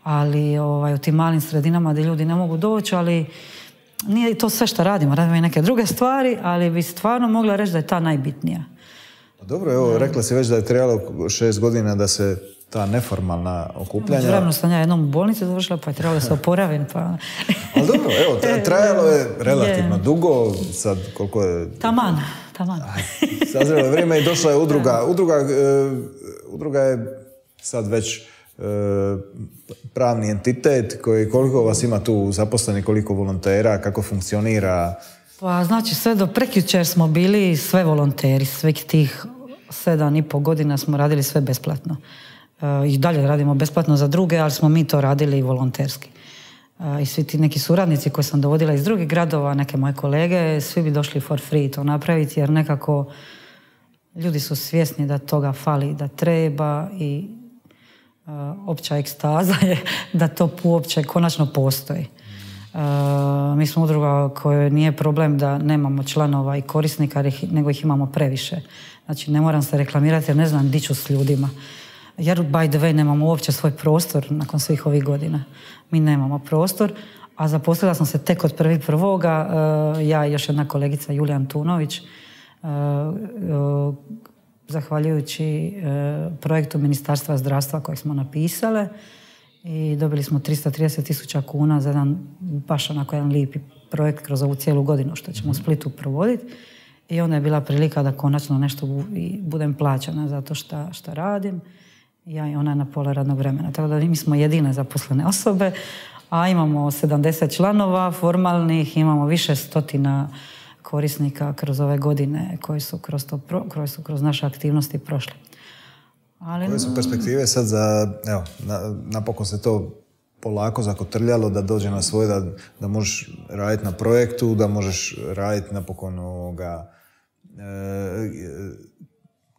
ali ovaj, u tim malim sredinama gdje ljudi ne mogu doći, ali nije to sve što radimo, radimo i neke druge stvari, ali bi stvarno mogla reći da je ta najbitnija. Dobro, evo, rekla si već da je trebalo šest godina da se ta neformalna okupljanja... Vremeno sam ja jednom u bolnici završila, pa je trebalo da se oporavim, pa... Ali dobro, evo, trajalo je relativno dugo, sad koliko je... Taman, taman. Sazrelo je vrijeme i došla je udruga. Udruga, uh, udruga je sad već uh, pravni entitet, koji, koliko vas ima tu zaposleni, koliko volontera, kako funkcionira? Pa znači sve do prekjučer smo bili sve volonteri, svih tih sedam i pol godina smo radili sve besplatno. I dalje radimo besplatno za druge, ali smo mi to radili i volonterski. I svi ti neki suradnici koje sam dovodila iz drugih gradova, neke moje kolege, svi bi došli for free to napraviti, jer nekako ljudi su svjesni da toga fali, da treba i uh, opća ekstaza je da to uopće konačno postoji. Uh, mi smo udruga koja nije problem da nemamo članova i korisnika, nego ih imamo previše. Znači ne moram se reklamirati jer ne znam di ću s ljudima. Jer, by the way, nemamo uopće svoj prostor nakon svih ovih godina. Mi nemamo prostor, a zaposlila sam se tek od prvi prvoga, uh, ja i još jedna kolegica Julija Antunović, uh, uh, zahvaljujući uh, projektu Ministarstva zdravstva kojeg smo napisale i dobili smo tristo trideset tisuća kuna za jedan, baš onako jedan lijepi projekt kroz ovu cijelu godinu što ćemo u Splitu provoditi. I onda je bila prilika da konačno nešto budem plaćena zato šta, šta radim. Ja i ona na pola radnog vremena. Tako da mi smo jedine zaposlene osobe, a imamo sedamdeset članova formalnih, imamo više stotina korisnika kroz ove godine koji su kroz, to, koji su kroz naše aktivnosti prošli. Ali... Koje su perspektive sad za, evo, na, napokon se to polako zakotrljalo da dođe na svoje, da, da možeš raditi na projektu, da možeš raditi napokon ovoga, e,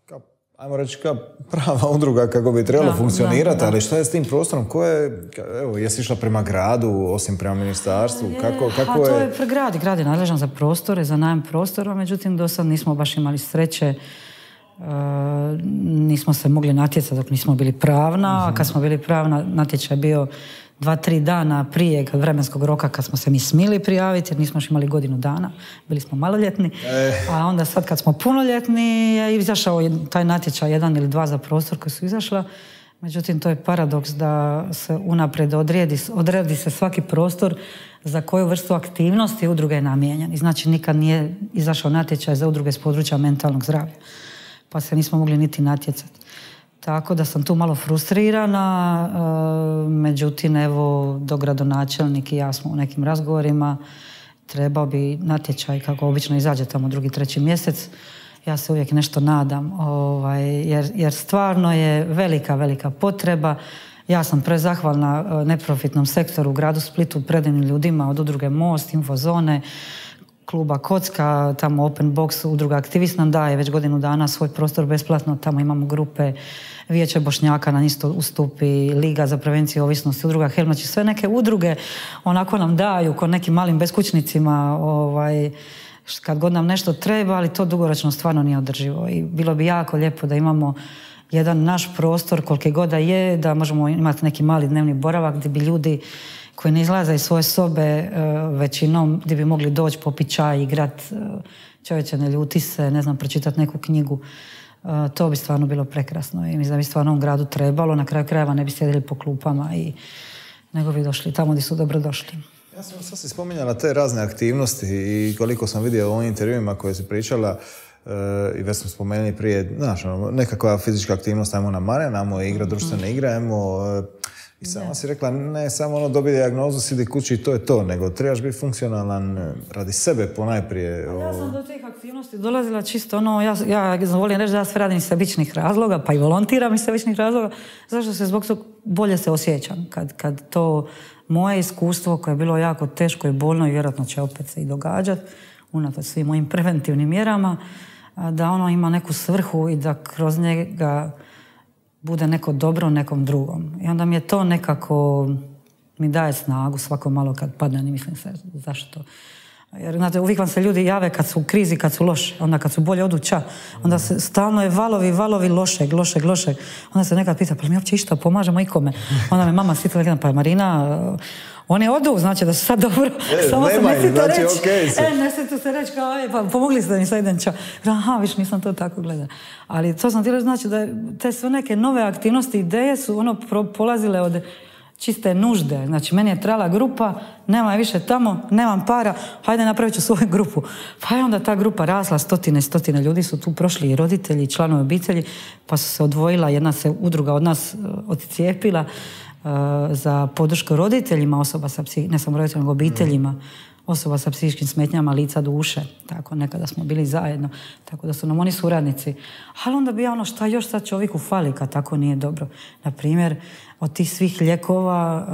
ka, ajmo reći kao prava udruga kako bi trebalo da, funkcionirati, da, da. Ali šta je s tim prostorom? Ko je, evo, jesi išla prema gradu, osim prema ministarstvu? Je, kako, kako a to je... je pre grad, grad je nadležan za prostore, za najam prostora, međutim do sad nismo baš imali sreće. Uh, nismo se mogli natjecati dok nismo bili pravna, uh-huh. a kad smo bili pravna natječaj je bio dva, tri dana prije vremenskog roka kad smo se mi smili prijaviti jer nismo još imali godinu dana, bili smo maloljetni, e. a onda sad kad smo punoljetni je izašao taj natječaj jedan ili dva za prostor koji su izašla, međutim to je paradoks da se unaprijed odredi, odredi se svaki prostor za koju vrstu aktivnosti udruge je namijenjen i znači nikad nije izašao natječaj za udruge s područja mentalnog zdravlja. Pa se nismo mogli niti natjecati. Tako da sam tu malo frustrirana, e, međutim, evo, dogradonačelnik i ja smo u nekim razgovorima, trebao bi natječaj, kako obično izađe tamo drugi, treći mjesec, ja se uvijek nešto nadam, ovaj, jer, jer stvarno je velika, velika potreba. Ja sam prezahvalna neprofitnom sektoru u gradu Splitu, predanim ljudima od udruge Most, Infozone, kluba Kocka, tamo Open Box, udruga Aktivist nam daje već godinu dana svoj prostor besplatno, tamo imamo grupe, Vijeće Bošnjaka nam isto ustupi, Liga za prevenciju ovisnosti, udruga Helm, znači sve neke udruge onako nam daju ko nekim malim beskućnicima, ovaj, kad god nam nešto treba, ali to dugoročno stvarno nije održivo i bilo bi jako lijepo da imamo jedan naš prostor koliki god da je, da možemo imati neki mali dnevni boravak gdje bi ljudi koji ne izlaze iz svoje sobe većinom, gdje bi mogli doći popiti čaj, igrat, čovječe ne ljuti se, ne znam, pročitati neku knjigu. To bi stvarno bilo prekrasno i mislim da bi stvarno u gradu trebalo, na kraju krajeva ne bi sjedili po klupama i nego bi došli tamo gdje su dobro došli. Ja sam sad si spominjala te razne aktivnosti i koliko sam vidio u ovim intervjuima koje si pričala, Uh, i već smo spomenuli prije, znaš, ono, nekakva fizička aktivnost, ajmo na Marjan, ajmo igra, društvene igre, ajmo... Uh, I sama si rekla, ne samo ono dobiti dijagnozu, sidi kući i to je to, nego trebaš biti funkcionalan radi sebe ponajprije. Ja sam do tih aktivnosti dolazila čisto ono, ja, ja volim reći da ja sve radim iz sebičnih razloga, pa i volontiram iz sebičnih razloga, zašto se zbog toga bolje se osjećam. Kad, kad to moje iskustvo koje je bilo jako teško i bolno i vjerojatno će opet se i događati, unatoč svim mojim preventivnim mjerama, da ono ima neku svrhu i da kroz njega bude neko dobro nekom drugom. I onda mi je to nekako, mi daje snagu svako malo kad padne, ne mislim se zašto. Jer, znate, uvijek vam se ljudi jave kad su u krizi, kad su loše, onda kad su bolje odu ča. Onda se stalno je valovi, valovi lošeg, lošeg, lošeg. Onda se nekad pita, pa mi uopće išta pomažemo ikome. Onda me mama sitila rekla, pa Marina, oni odu, znači da su sad dobro. E, samo nema se ne znači reći, okej okay, e, ne sjetu se reći kao, e, pa pomogli ste mi sad idem ča. Aha, viš, nisam to tako gledala. Ali to sam htjela znači da te sve neke nove aktivnosti, ideje su ono polazile od čiste nužde. Znači, meni je trebala grupa, nema je više tamo, nemam para, hajde napravit ću svoju grupu. Pa je onda ta grupa rasla, stotine, stotine ljudi su tu prošli, i roditelji, i članovi obitelji, pa su se odvojila, jedna se udruga od nas odcijepila uh, za podršku roditeljima osoba sa psih, ne samo roditeljima, nego obiteljima osoba sa psihičkim smetnjama lica, duše. Tako, nekada smo bili zajedno. Tako da su nam oni suradnici. Ali onda bi ja ono, šta još sad čovjeku fali kad tako nije dobro. Naprimjer, od tih svih lijekova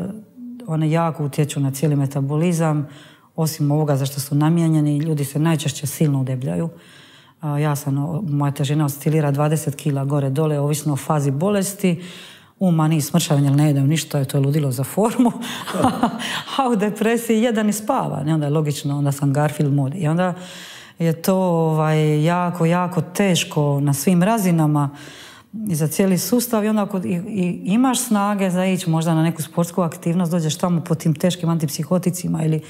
uh, one jako utječu na cijeli metabolizam. Osim ovoga za što su namijenjeni, ljudi se najčešće silno udebljaju. Uh, ja sam, moja težina oscilira dvadeset kila gore dole, ovisno o fazi bolesti. U maniji smršavanja ili ne jedem ništa, to je ludilo za formu. A u depresiji jedan i spava. Ne? Onda je logično, onda sam Garfield mod. I onda je to ovaj, jako, jako teško na svim razinama i za cijeli sustav. I onda ako i, i imaš snage za ići možda na neku sportsku aktivnost, dođeš tamo po tim teškim antipsihoticima ili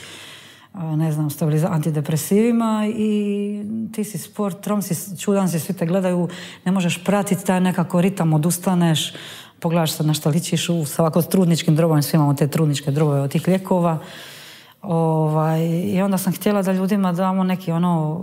ne znam, antidepresivima i ti si sport, trom si, čudan si, svi te gledaju, ne možeš pratiti taj nekako ritam, odustaneš, pogledaš se na šta ličiš u svako trudničkim drobama, svi imamo te trudničke drobove od tih lijekova. Ovaj, I onda sam htjela da ljudima damo neki ono,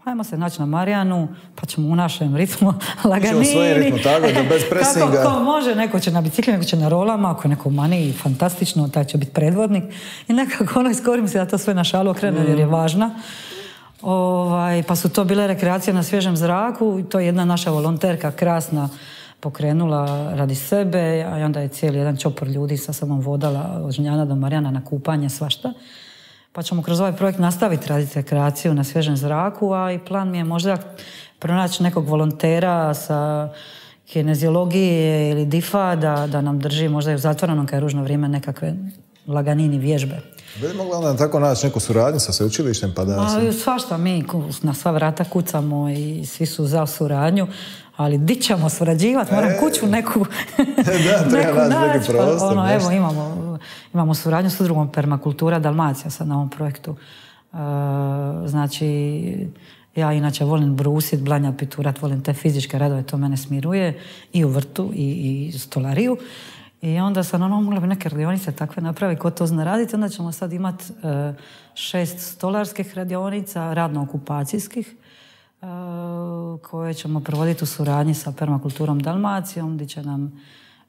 hajmo se naći na Marijanu, pa ćemo u našem ritmu laganini. Ćemo svoj ritmu, tako da bez presinga. Kako ko može, neko će na bicikli, neko će na rolama, ako neko mani, fantastično, taj će biti predvodnik. I nekako ono iskorim se da to sve na šalu okrene, mm. jer je važna. Ovaj, pa su to bile rekreacije na svježem zraku i to je jedna naša volonterka krasna pokrenula radi sebe, a onda je cijeli jedan čopor ljudi sa sobom vodala od Žnjana do Marijana na kupanje, svašta. Pa ćemo kroz ovaj projekt nastaviti raditi rekreaciju na svježem zraku, a i plan mi je možda pronaći nekog volontera sa kineziologije ili difa da, da nam drži možda i u zatvorenom kad je ružno vrijeme nekakve laganini vježbe. Bi li mogla onda tako naći neku suradnju sa sveučilištem? Pa da se... Svašta, mi na sva vrata kucamo i svi su za suradnju, ali di ćemo surađivati, moram e, kuću neku, da, neku naći. Neki prostor, pa, ono, evo, imamo, imamo suradnju s udrugom Permakultura Dalmacija sad na ovom projektu. Uh, znači, ja inače volim brusit, blanjat, piturat, volim te fizičke radove, to mene smiruje i u vrtu i, i stolariju. I onda sam ono, mogla bi neke radionice takve napraviti, ko to zna raditi, onda ćemo sad imati uh, šest stolarskih radionica, radno-okupacijskih, uh, koje ćemo provoditi u suradnji sa Permakulturom Dalmacijom, gdje će nam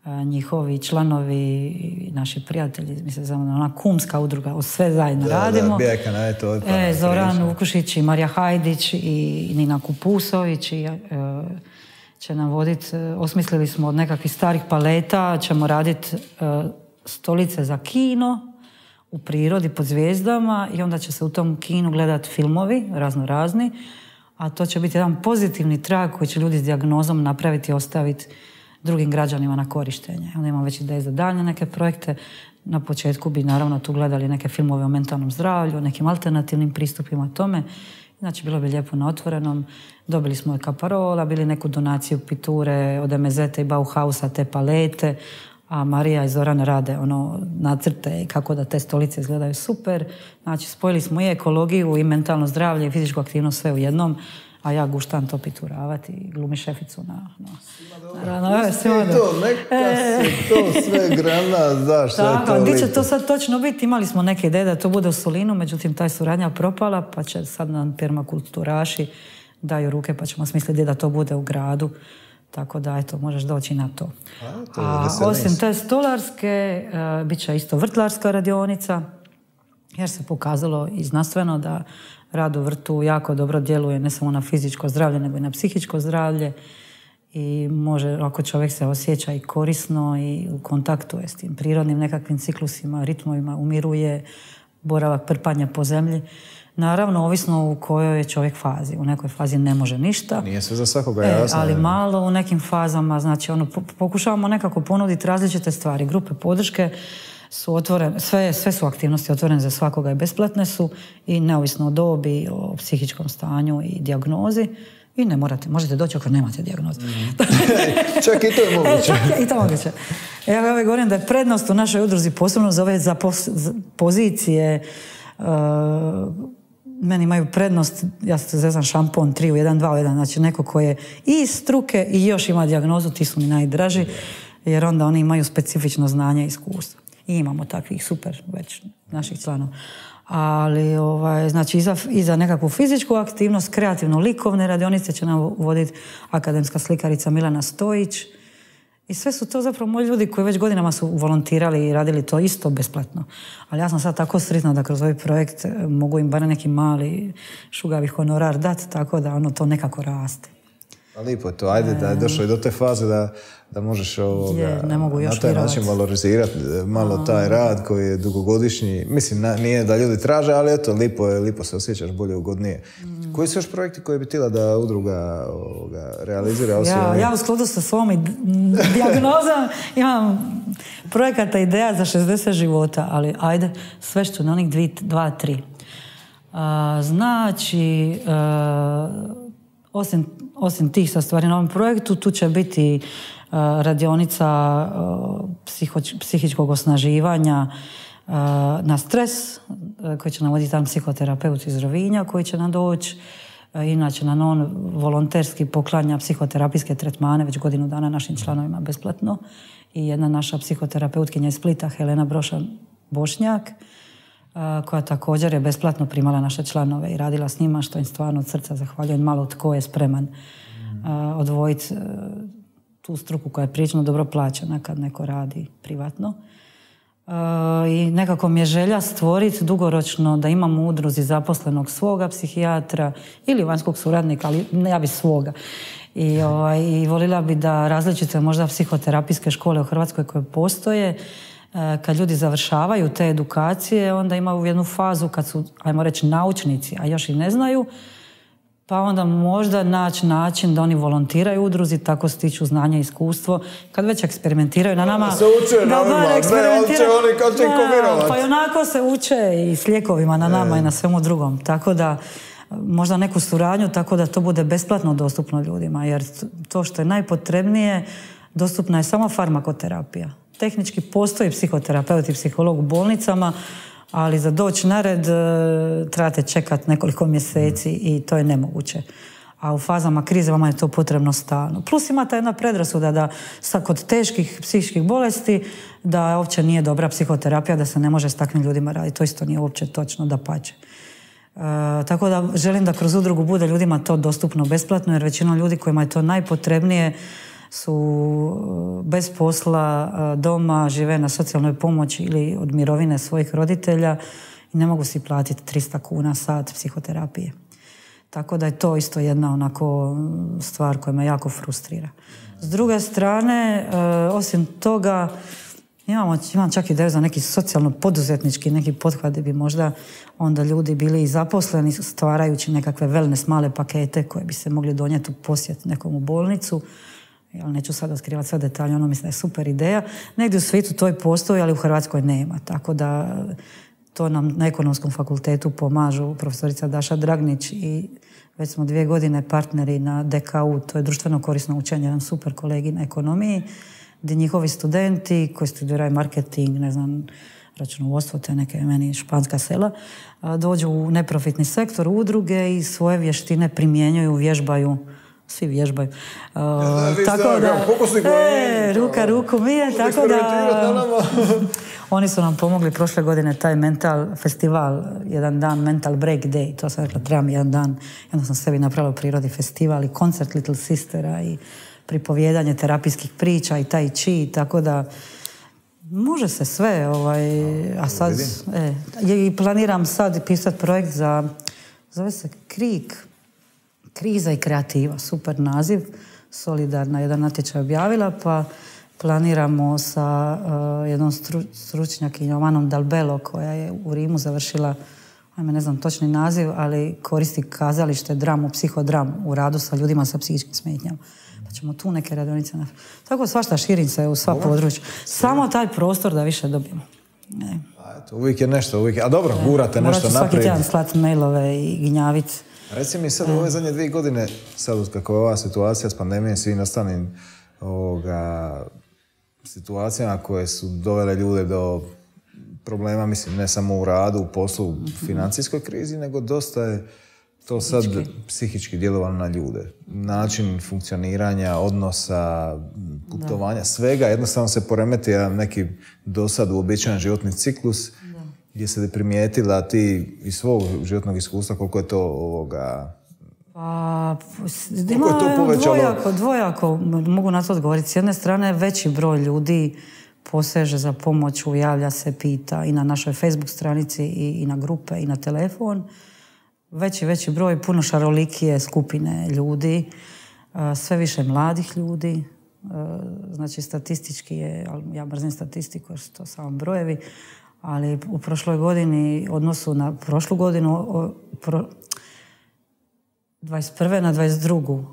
uh, njihovi članovi i naši prijatelji, mislim, za ona kumska udruga, sve zajedno da, radimo. Da, Bijeka, ne, to je pa e, Zoran Vukušić i Marija Hajdić i Nina Kupusović i uh, će nam voditi, osmislili smo od nekakvih starih paleta, ćemo raditi uh, stolice za kino u prirodi pod zvijezdama i onda će se u tom kinu gledati filmovi razno razni, a to će biti jedan pozitivni trag koji će ljudi s dijagnozom napraviti i ostaviti drugim građanima na korištenje. Onda imamo već ideje za daljnje neke projekte. Na početku bi naravno tu gledali neke filmove o mentalnom zdravlju, o nekim alternativnim pristupima tome. Znači, bilo bi lijepo na otvorenom. Dobili smo kaparola, bili neku donaciju piture od em zet i Bauhausa, te palete, a Marija i Zoran rade ono nacrte i kako da te stolice izgledaju super. Znači, spojili smo i ekologiju i mentalno zdravlje i fizičku aktivnost sve u jednom, a ja guštam to pituravati i glumi šeficu na... na, na, na, na svima to, neka e, se to sve grana, znaš šta je to lipo. Gdje će to sad točno biti? Imali smo neke ideje da to bude u Solinu, međutim ta je suradnja propala, pa će sad nam permakulturaši daju ruke, pa ćemo smisliti gdje da to bude u gradu. Tako da, eto, možeš doći na to. A, to a osim te stolarske, uh, bit će isto vrtlarska radionica, jer se pokazalo i znanstveno da rad u vrtu jako dobro djeluje ne samo na fizičko zdravlje, nego i na psihičko zdravlje. I može, ako čovjek se osjeća i korisno i u kontaktu je s tim prirodnim nekakvim ciklusima, ritmovima, umiruje, boravak prpanja po zemlji. Naravno, ovisno u kojoj je čovjek fazi. U nekoj fazi ne može ništa. Nije sve za svakoga jasno. E, ali malo u nekim fazama, znači ono, pokušavamo nekako ponuditi različite stvari. Grupe podrške su otvorene, sve, sve su aktivnosti otvorene za svakoga i besplatne su i neovisno o dobi, o psihičkom stanju i dijagnozi. I ne morate, možete doći ako nemate dijagnozu. Mm. Čak i to je moguće. E, čak i to je moguće. Ja ovaj govorim da je prednost u našoj udruzi posebno za ove za pos, za pozicije. Uh, meni imaju prednost, ja se zezam šampon tri u jedan, dva u jedan, znači neko ko je i iz struke i još ima dijagnozu, ti su mi najdraži, jer onda oni imaju specifično znanje i iskustvo. I imamo takvih super već naših članova. Ali, ovaj, znači, i za, i za nekakvu fizičku aktivnost, kreativno-likovne radionice će nam voditi akademska slikarica Milana Stojić. I sve su to zapravo moji ljudi koji već godinama su volontirali i radili to isto besplatno. Ali ja sam sad tako sretna da kroz ovaj projekt mogu im bar neki mali šugavi honorar dati, tako da ono to nekako raste. A lipo je to, ajde da je došlo i do te faze da, da možeš ovoga, je, ne mogu još na taj način valorizirati malo a, taj rad koji je dugogodišnji. Mislim, na, nije da ljudi traže, ali eto, lipo je, lipo se osjećaš bolje, ugodnije. Mm. Koji su još projekti koji bi htjela da udruga ovoga, realizira? Ja, ja u skladu sa svom dijagnozom imam projekata ideja za šezdeset života, ali ajde, sve što na onih dvi, dva, tri. A, znači, a, osim Osim tih sa stvari na ovom projektu, tu će biti uh, radionica uh, psiho, psihičkog osnaživanja uh, na stres, uh, koji će nam voditi tam psihoterapeut iz Rovinja, koji će nam doći. Uh, inače, na on volonterski poklanja psihoterapijske tretmane već godinu dana našim članovima besplatno. I jedna naša psihoterapeutkinja iz Splita, Helena Brošan-Bošnjak, Uh, koja također je besplatno primala naše članove i radila s njima, što im stvarno od srca zahvaljujem. Malo tko je spreman uh, odvojiti uh, tu struku koja je prilično dobro plaćena kad neko radi privatno. Uh, I nekako mi je želja stvoriti dugoročno da imamo u udruzi zaposlenog svoga psihijatra ili vanjskog suradnika, ali ne ja bi svoga. I, ovaj, i volila bi da različite možda psihoterapijske škole u Hrvatskoj koje postoje, kad ljudi završavaju te edukacije, onda imaju jednu fazu kad su, ajmo reći, naučnici, a još i ne znaju, pa onda možda naći način da oni volontiraju u udruzi, tako stiču znanje i iskustvo. Kad već eksperimentiraju na nama... Se uče na nama, ne, uče oni kad će komirovat. Pa i onako se uče i s lijekovima na nama e. i na svemu drugom. Tako da, možda neku suradnju, tako da to bude besplatno dostupno ljudima, jer to što je najpotrebnije, dostupna je samo farmakoterapija. Tehnički postoji psihoterapeut i psiholog u bolnicama, ali za doći na red trebate čekati nekoliko mjeseci i to je nemoguće. A u fazama krize vama je to potrebno stalno. Plus ima ta jedna predrasuda da kod teških psihičkih bolesti da uopće nije dobra psihoterapija, da se ne može s takvim ljudima raditi. To isto nije uopće točno, dapače. E, tako da želim da kroz udrugu bude ljudima to dostupno besplatno, jer većina ljudi kojima je to najpotrebnije su bez posla doma, žive na socijalnoj pomoći ili od mirovine svojih roditelja i ne mogu si platiti tristo kuna sat psihoterapije. Tako da je to isto jedna onako stvar koja me jako frustrira. S druge strane, osim toga, imamo, imam čak ideju za neki socijalno-poduzetnički neki pothvat gdje bi možda onda ljudi bili i zaposleni stvarajući nekakve wellness male pakete koje bi se mogli donijeti u posjet nekom u bolnicu. Ja neću sad otkrivati sve detalje, ono mislim da je super ideja. Negdje u svijetu to i postoji, ali u Hrvatskoj nema. Tako da to nam na Ekonomskom fakultetu pomažu profesorica Daša Dragnić i već smo dvije godine partneri na D K U, to je društveno korisno učenje, jedan super kolegi na ekonomiji, gdje njihovi studenti koji studiraju marketing, ne znam, računovodstvo, te neke meni španska sela, dođu u neprofitni sektor, udruge i svoje vještine primjenjuju, vježbaju. Svi vježbaju. Uh, da, tako da, e, ruka ruku mije, tako da oni su nam pomogli prošle godine taj mental festival, jedan dan mental break day, to sam rekla, trebam jedan dan, jedno sam sebi napravila u prirodi festival i koncert Little Sistera i pripovjedanje terapijskih priča i tai chi, tako da može se sve, ovaj, a sad e, i planiram sad pisati projekt za, zove se Krik, Kriza i kreativa, super naziv, solidarna, jedan natječaj objavila, pa planiramo sa uh, jednom stru, stručnjakinjom Anom Dalbelo, koja je u Rimu završila, ajme ne znam točni naziv, ali koristi kazalište, dramu, psihodramu u radu sa ljudima sa psihičkim smetnjama. Pa ćemo tu neke radionice napraviti. Tako svašta, širim se u sva područja. Samo taj prostor da više dobijemo. Ne. A eto, uvijek je nešto, uvijek je. A dobro, gurate nešto naprijed. Morat ću svaki tjedan slati mailove i gnjaviti. Reci mi sad u ove zadnje dvije godine, sad kako je ova situacija s pandemijom, svim ostalim ovoga, situacijama koje su dovele ljude do problema, mislim, ne samo u radu, u poslu, u financijskoj krizi, nego dosta je to sad psihički djelovalo na ljude. Način funkcioniranja, odnosa, putovanja, da. Svega, jednostavno se poremeti neki dosad uobičajen životni ciklus, da. Gdje se primijetila ti iz svog životnog iskustva koliko je to ovoga... Pa, ima dvojako, dvojako, mogu na to odgovoriti. S jedne strane, veći broj ljudi poseže za pomoću, javlja se, pita i na našoj Facebook stranici i, i na grupe i na telefon. Veći, veći broj, puno šarolikije skupine ljudi, sve više mladih ljudi. Znači, statistički je, ja mrzim statistiku jer su to samo brojevi, ali u prošloj godini, odnosu na prošlu godinu, o, pro, dvadeset prve na dvadeset drugu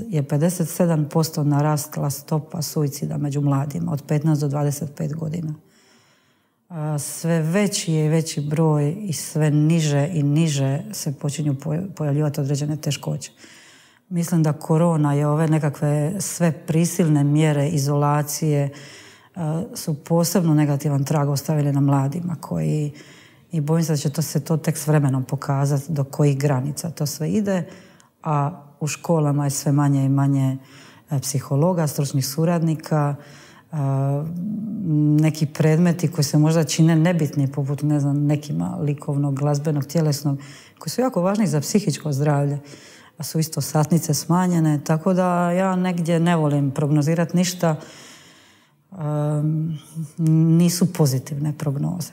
je pedeset sedam posto narasla stopa suicida među mladima od petnaest do dvadeset pet godina. Sve veći je veći broj i sve niže i niže se počinju pojavljivati određene teškoće. Mislim da korona je ove nekakve sve prisilne mjere izolacije su posebno negativan trag ostavili na mladima koji, i bojim se da će to se to tek s vremenom pokazati do kojih granica to sve ide, a u školama je sve manje i manje psihologa, stručnih suradnika, neki predmeti koji se možda čine nebitni, poput ne znam, nekima likovnog, glazbenog, tjelesnog, koji su jako važni za psihičko zdravlje, a su isto satnice smanjene, tako da ja negdje ne volim prognozirati ništa, um, nisu pozitivne prognoze.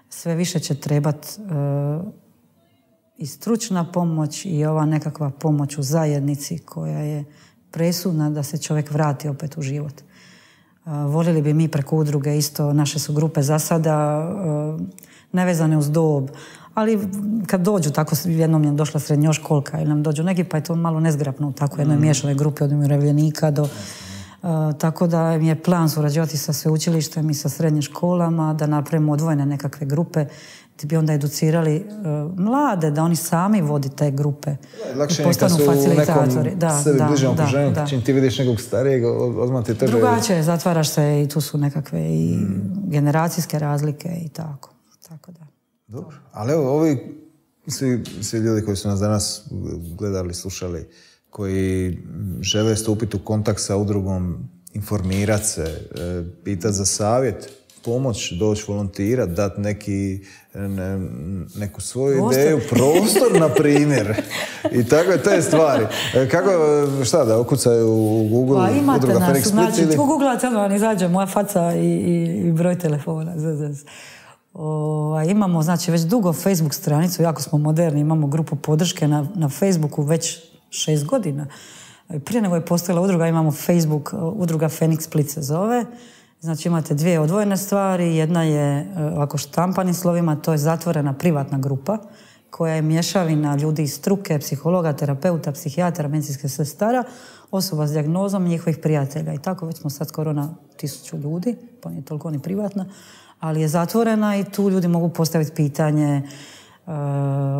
Sve više će trebati uh, i stručna pomoć i ova nekakva pomoć u zajednici koja je presudna da se čovjek vrati opet u život. Uh, voljeli bi mi preko udruge isto, naše su grupe za sada uh, nevezane uz dob, ali kad dođu, tako jednom je došla srednjoškolka ili nam dođu neki, pa je to malo nezgrapno u tako jednoj miješanoj grupi od umirovljenika do... Uh, tako da mi je plan surađivati sa sveučilištem i sa srednjim školama, da napravimo odvojene nekakve grupe gdje bi onda educirali uh, mlade, da oni sami vodi te grupe. Lakše je kad su u nekom da, sebi da, bližem okruženju, čim ti vidiš nekog starijeg, odmah ti tebe... Drugačije, zatvaraš se i tu su nekakve i mm. generacijske razlike i tako. Tako da. Dobro, ali evo, ovi svi, svi ljudi koji su nas danas gledali, slušali, koji žele stupiti u kontakt sa udrugom, informirati se, pitati za savjet, pomoć, doći volontirati, dati neki, ne, neku svoju prostor. Ideju, prostor, na primjer. I tako je te stvari. Kako, šta da, okucaju u Google pa, imate udruga nas, Fenix Split? Znači, ili... tu googlate, vam izađe moja faca i, i, i broj telefona. O, imamo, znači, već dugo Facebook stranicu, jako smo moderni, imamo grupu podrške na, na Facebooku već šest godina. Prije nego je postojala udruga, imamo Facebook, udruga Fenix Split se zove. Znači imate dvije odvojene stvari. Jedna je ovako štampanim slovima, to je zatvorena privatna grupa koja je mješavina ljudi iz struke, psihologa, terapeuta, psihijatara, medicinske sestara, osoba s dijagnozom i njihovih prijatelja. I tako već smo sad skoro na tisuću ljudi, pa nije toliko ni privatna, ali je zatvorena i tu ljudi mogu postaviti pitanje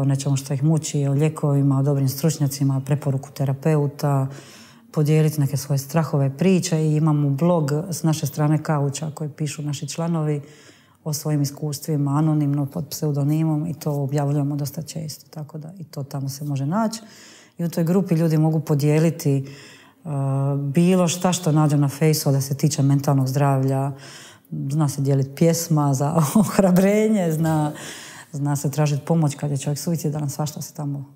o nečemu što ih muči, o lijekovima, o dobrim stručnjacima, preporuku terapeuta, podijeliti neke svoje strahove, priče i imamo blog s naše strane Kauča koji pišu naši članovi o svojim iskustvima, anonimno pod pseudonimom i to objavljujemo dosta često, tako da i to tamo se može naći. I u toj grupi ljudi mogu podijeliti uh, bilo šta što nađu na fejsu da se tiče mentalnog zdravlja. Zna se dijeliti pjesma za ohrabrenje, zna, zna se tražiti pomoć kad je čovjek suicidalan, svašta se tamo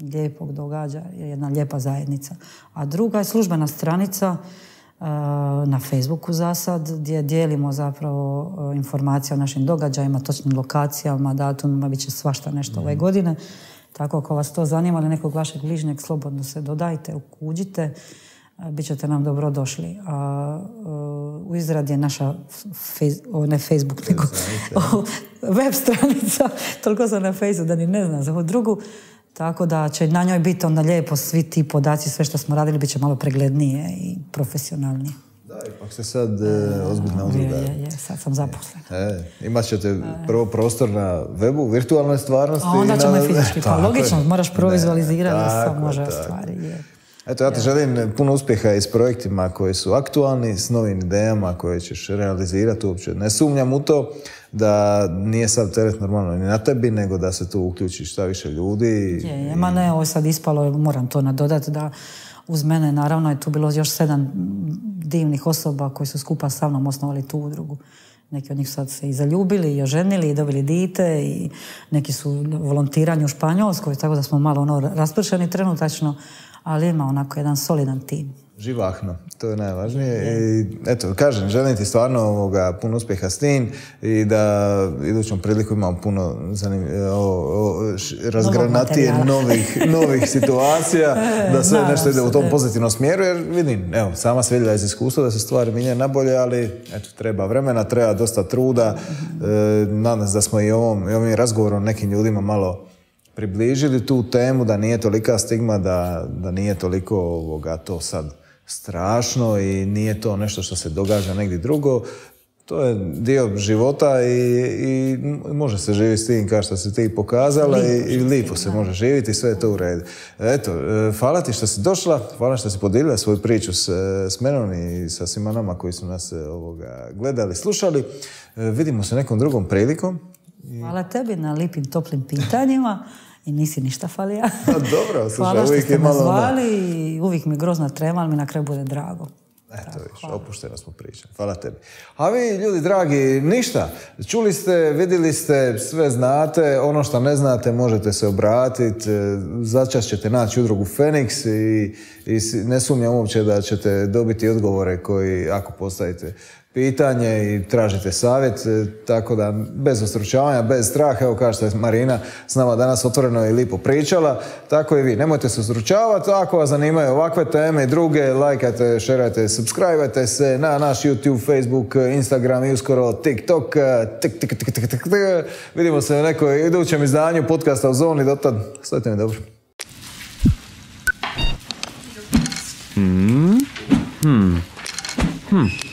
lijepog događa, je jedna lijepa zajednica. A druga je službena stranica uh, na Facebooku za sad, gdje dijelimo zapravo uh, informacije o našim događajima, točnim lokacijama, datumima, bit će svašta nešto mm. ove godine. Tako ako vas to zanima ili nekog vašeg bližnjeg, slobodno se dodajte, ukuđite, bit ćete nam dobro došli. A, uh, u izradi je naša fejs, o, ne Facebook, nego o, web stranica, toliko sam na Fejsu da ni ne znam za ovu drugu, tako da će na njoj biti onda lijepo svi ti podaci, sve što smo radili, bit će malo preglednije i profesionalnije. Da, ipak se sad e, ozbiljna udruga. Je, je, je, sad sam zaposlena. E, imat ćete prvo prostor na webu, virtualnoj stvarnosti. A onda ćemo na... i fizički. Pa logično, moraš prvo vizualizirati da se može tako. ostvari. Je. Eto, ja ti želim puno uspjeha i s projektima koji su aktualni, s novim idejama koje ćeš realizirati uopće. Ne sumnjam u to da nije sad teret normalno ni na tebi, nego da se tu uključi šta više ljudi. Je, je, ma ne, ovo je sad ispalo, moram to nadodati da uz mene, naravno, je tu bilo još sedam divnih osoba koji su skupa sa mnom osnovali tu udrugu. Neki od njih sad se i zaljubili, i oženili, i dobili dite, i neki su volontirani u Španjolskoj, tako da smo malo ono raspršeni trenutačno, ali ima onako jedan solidan tim. Živahno, to je najvažnije. Je. I eto, kažem, želim ti stvarno ovoga, puno uspjeha s tim i da idućom priliku imamo puno zanim, o, o, razgranatije novih, novih situacija, da sve Naravno nešto ide u tom pozitivnom smjeru, jer vidim, evo, sama se vidjela iz iskustva da se stvari mijenjaju nabolje, ali eto, treba vremena, treba dosta truda. Mm-hmm. E, nadam se da smo i ovom, i ovim razgovorom nekim ljudima malo približili tu temu, da nije tolika stigma, da, da nije toliko ovoga, to sad strašno i nije to nešto što se događa negdje drugo. To je dio života i, i može se živjeti s tim kao što si ti pokazala i, i lipo se može živjeti i sve je to u redu. Eto, hvala ti što si došla, hvala što si podijelila svoju priču s, s menom i sa svima nama koji su nas ovoga, gledali, slušali. Vidimo se nekom drugom prilikom. Hvala tebi na lipim, toplim pitanjima. I nisi ništa falija. Dobro, slušaj, hvala što ste me zvali ono... i uvijek mi grozna trema, ali mi na kraju bude drago. Eto, viš, opušteno smo pričali. Hvala tebi. A vi, ljudi dragi, ništa. Čuli ste, vidjeli ste, sve znate. Ono što ne znate, možete se obratiti. Začas ćete naći udrugu Feniks i, i ne sumnjam uopće da ćete dobiti odgovore koji, ako postavite pitanje i tražite savjet, tako da bez ustručavanja, bez straha, evo kao što je Marina s nama danas otvoreno i lipo pričala, tako i vi. Nemojte se ustručavati, ako vas zanimaju ovakve teme i druge, lajkajte, šerajte, subscribe-ajte se na naš YouTube, Facebook, Instagram i uskoro TikTok. Tik, tik, tik, tik, tik. Vidimo se u nekoj idućem izdanju podcasta u Zoni, dotad stojite mi dobro. Hmm. Hmm. Hmm.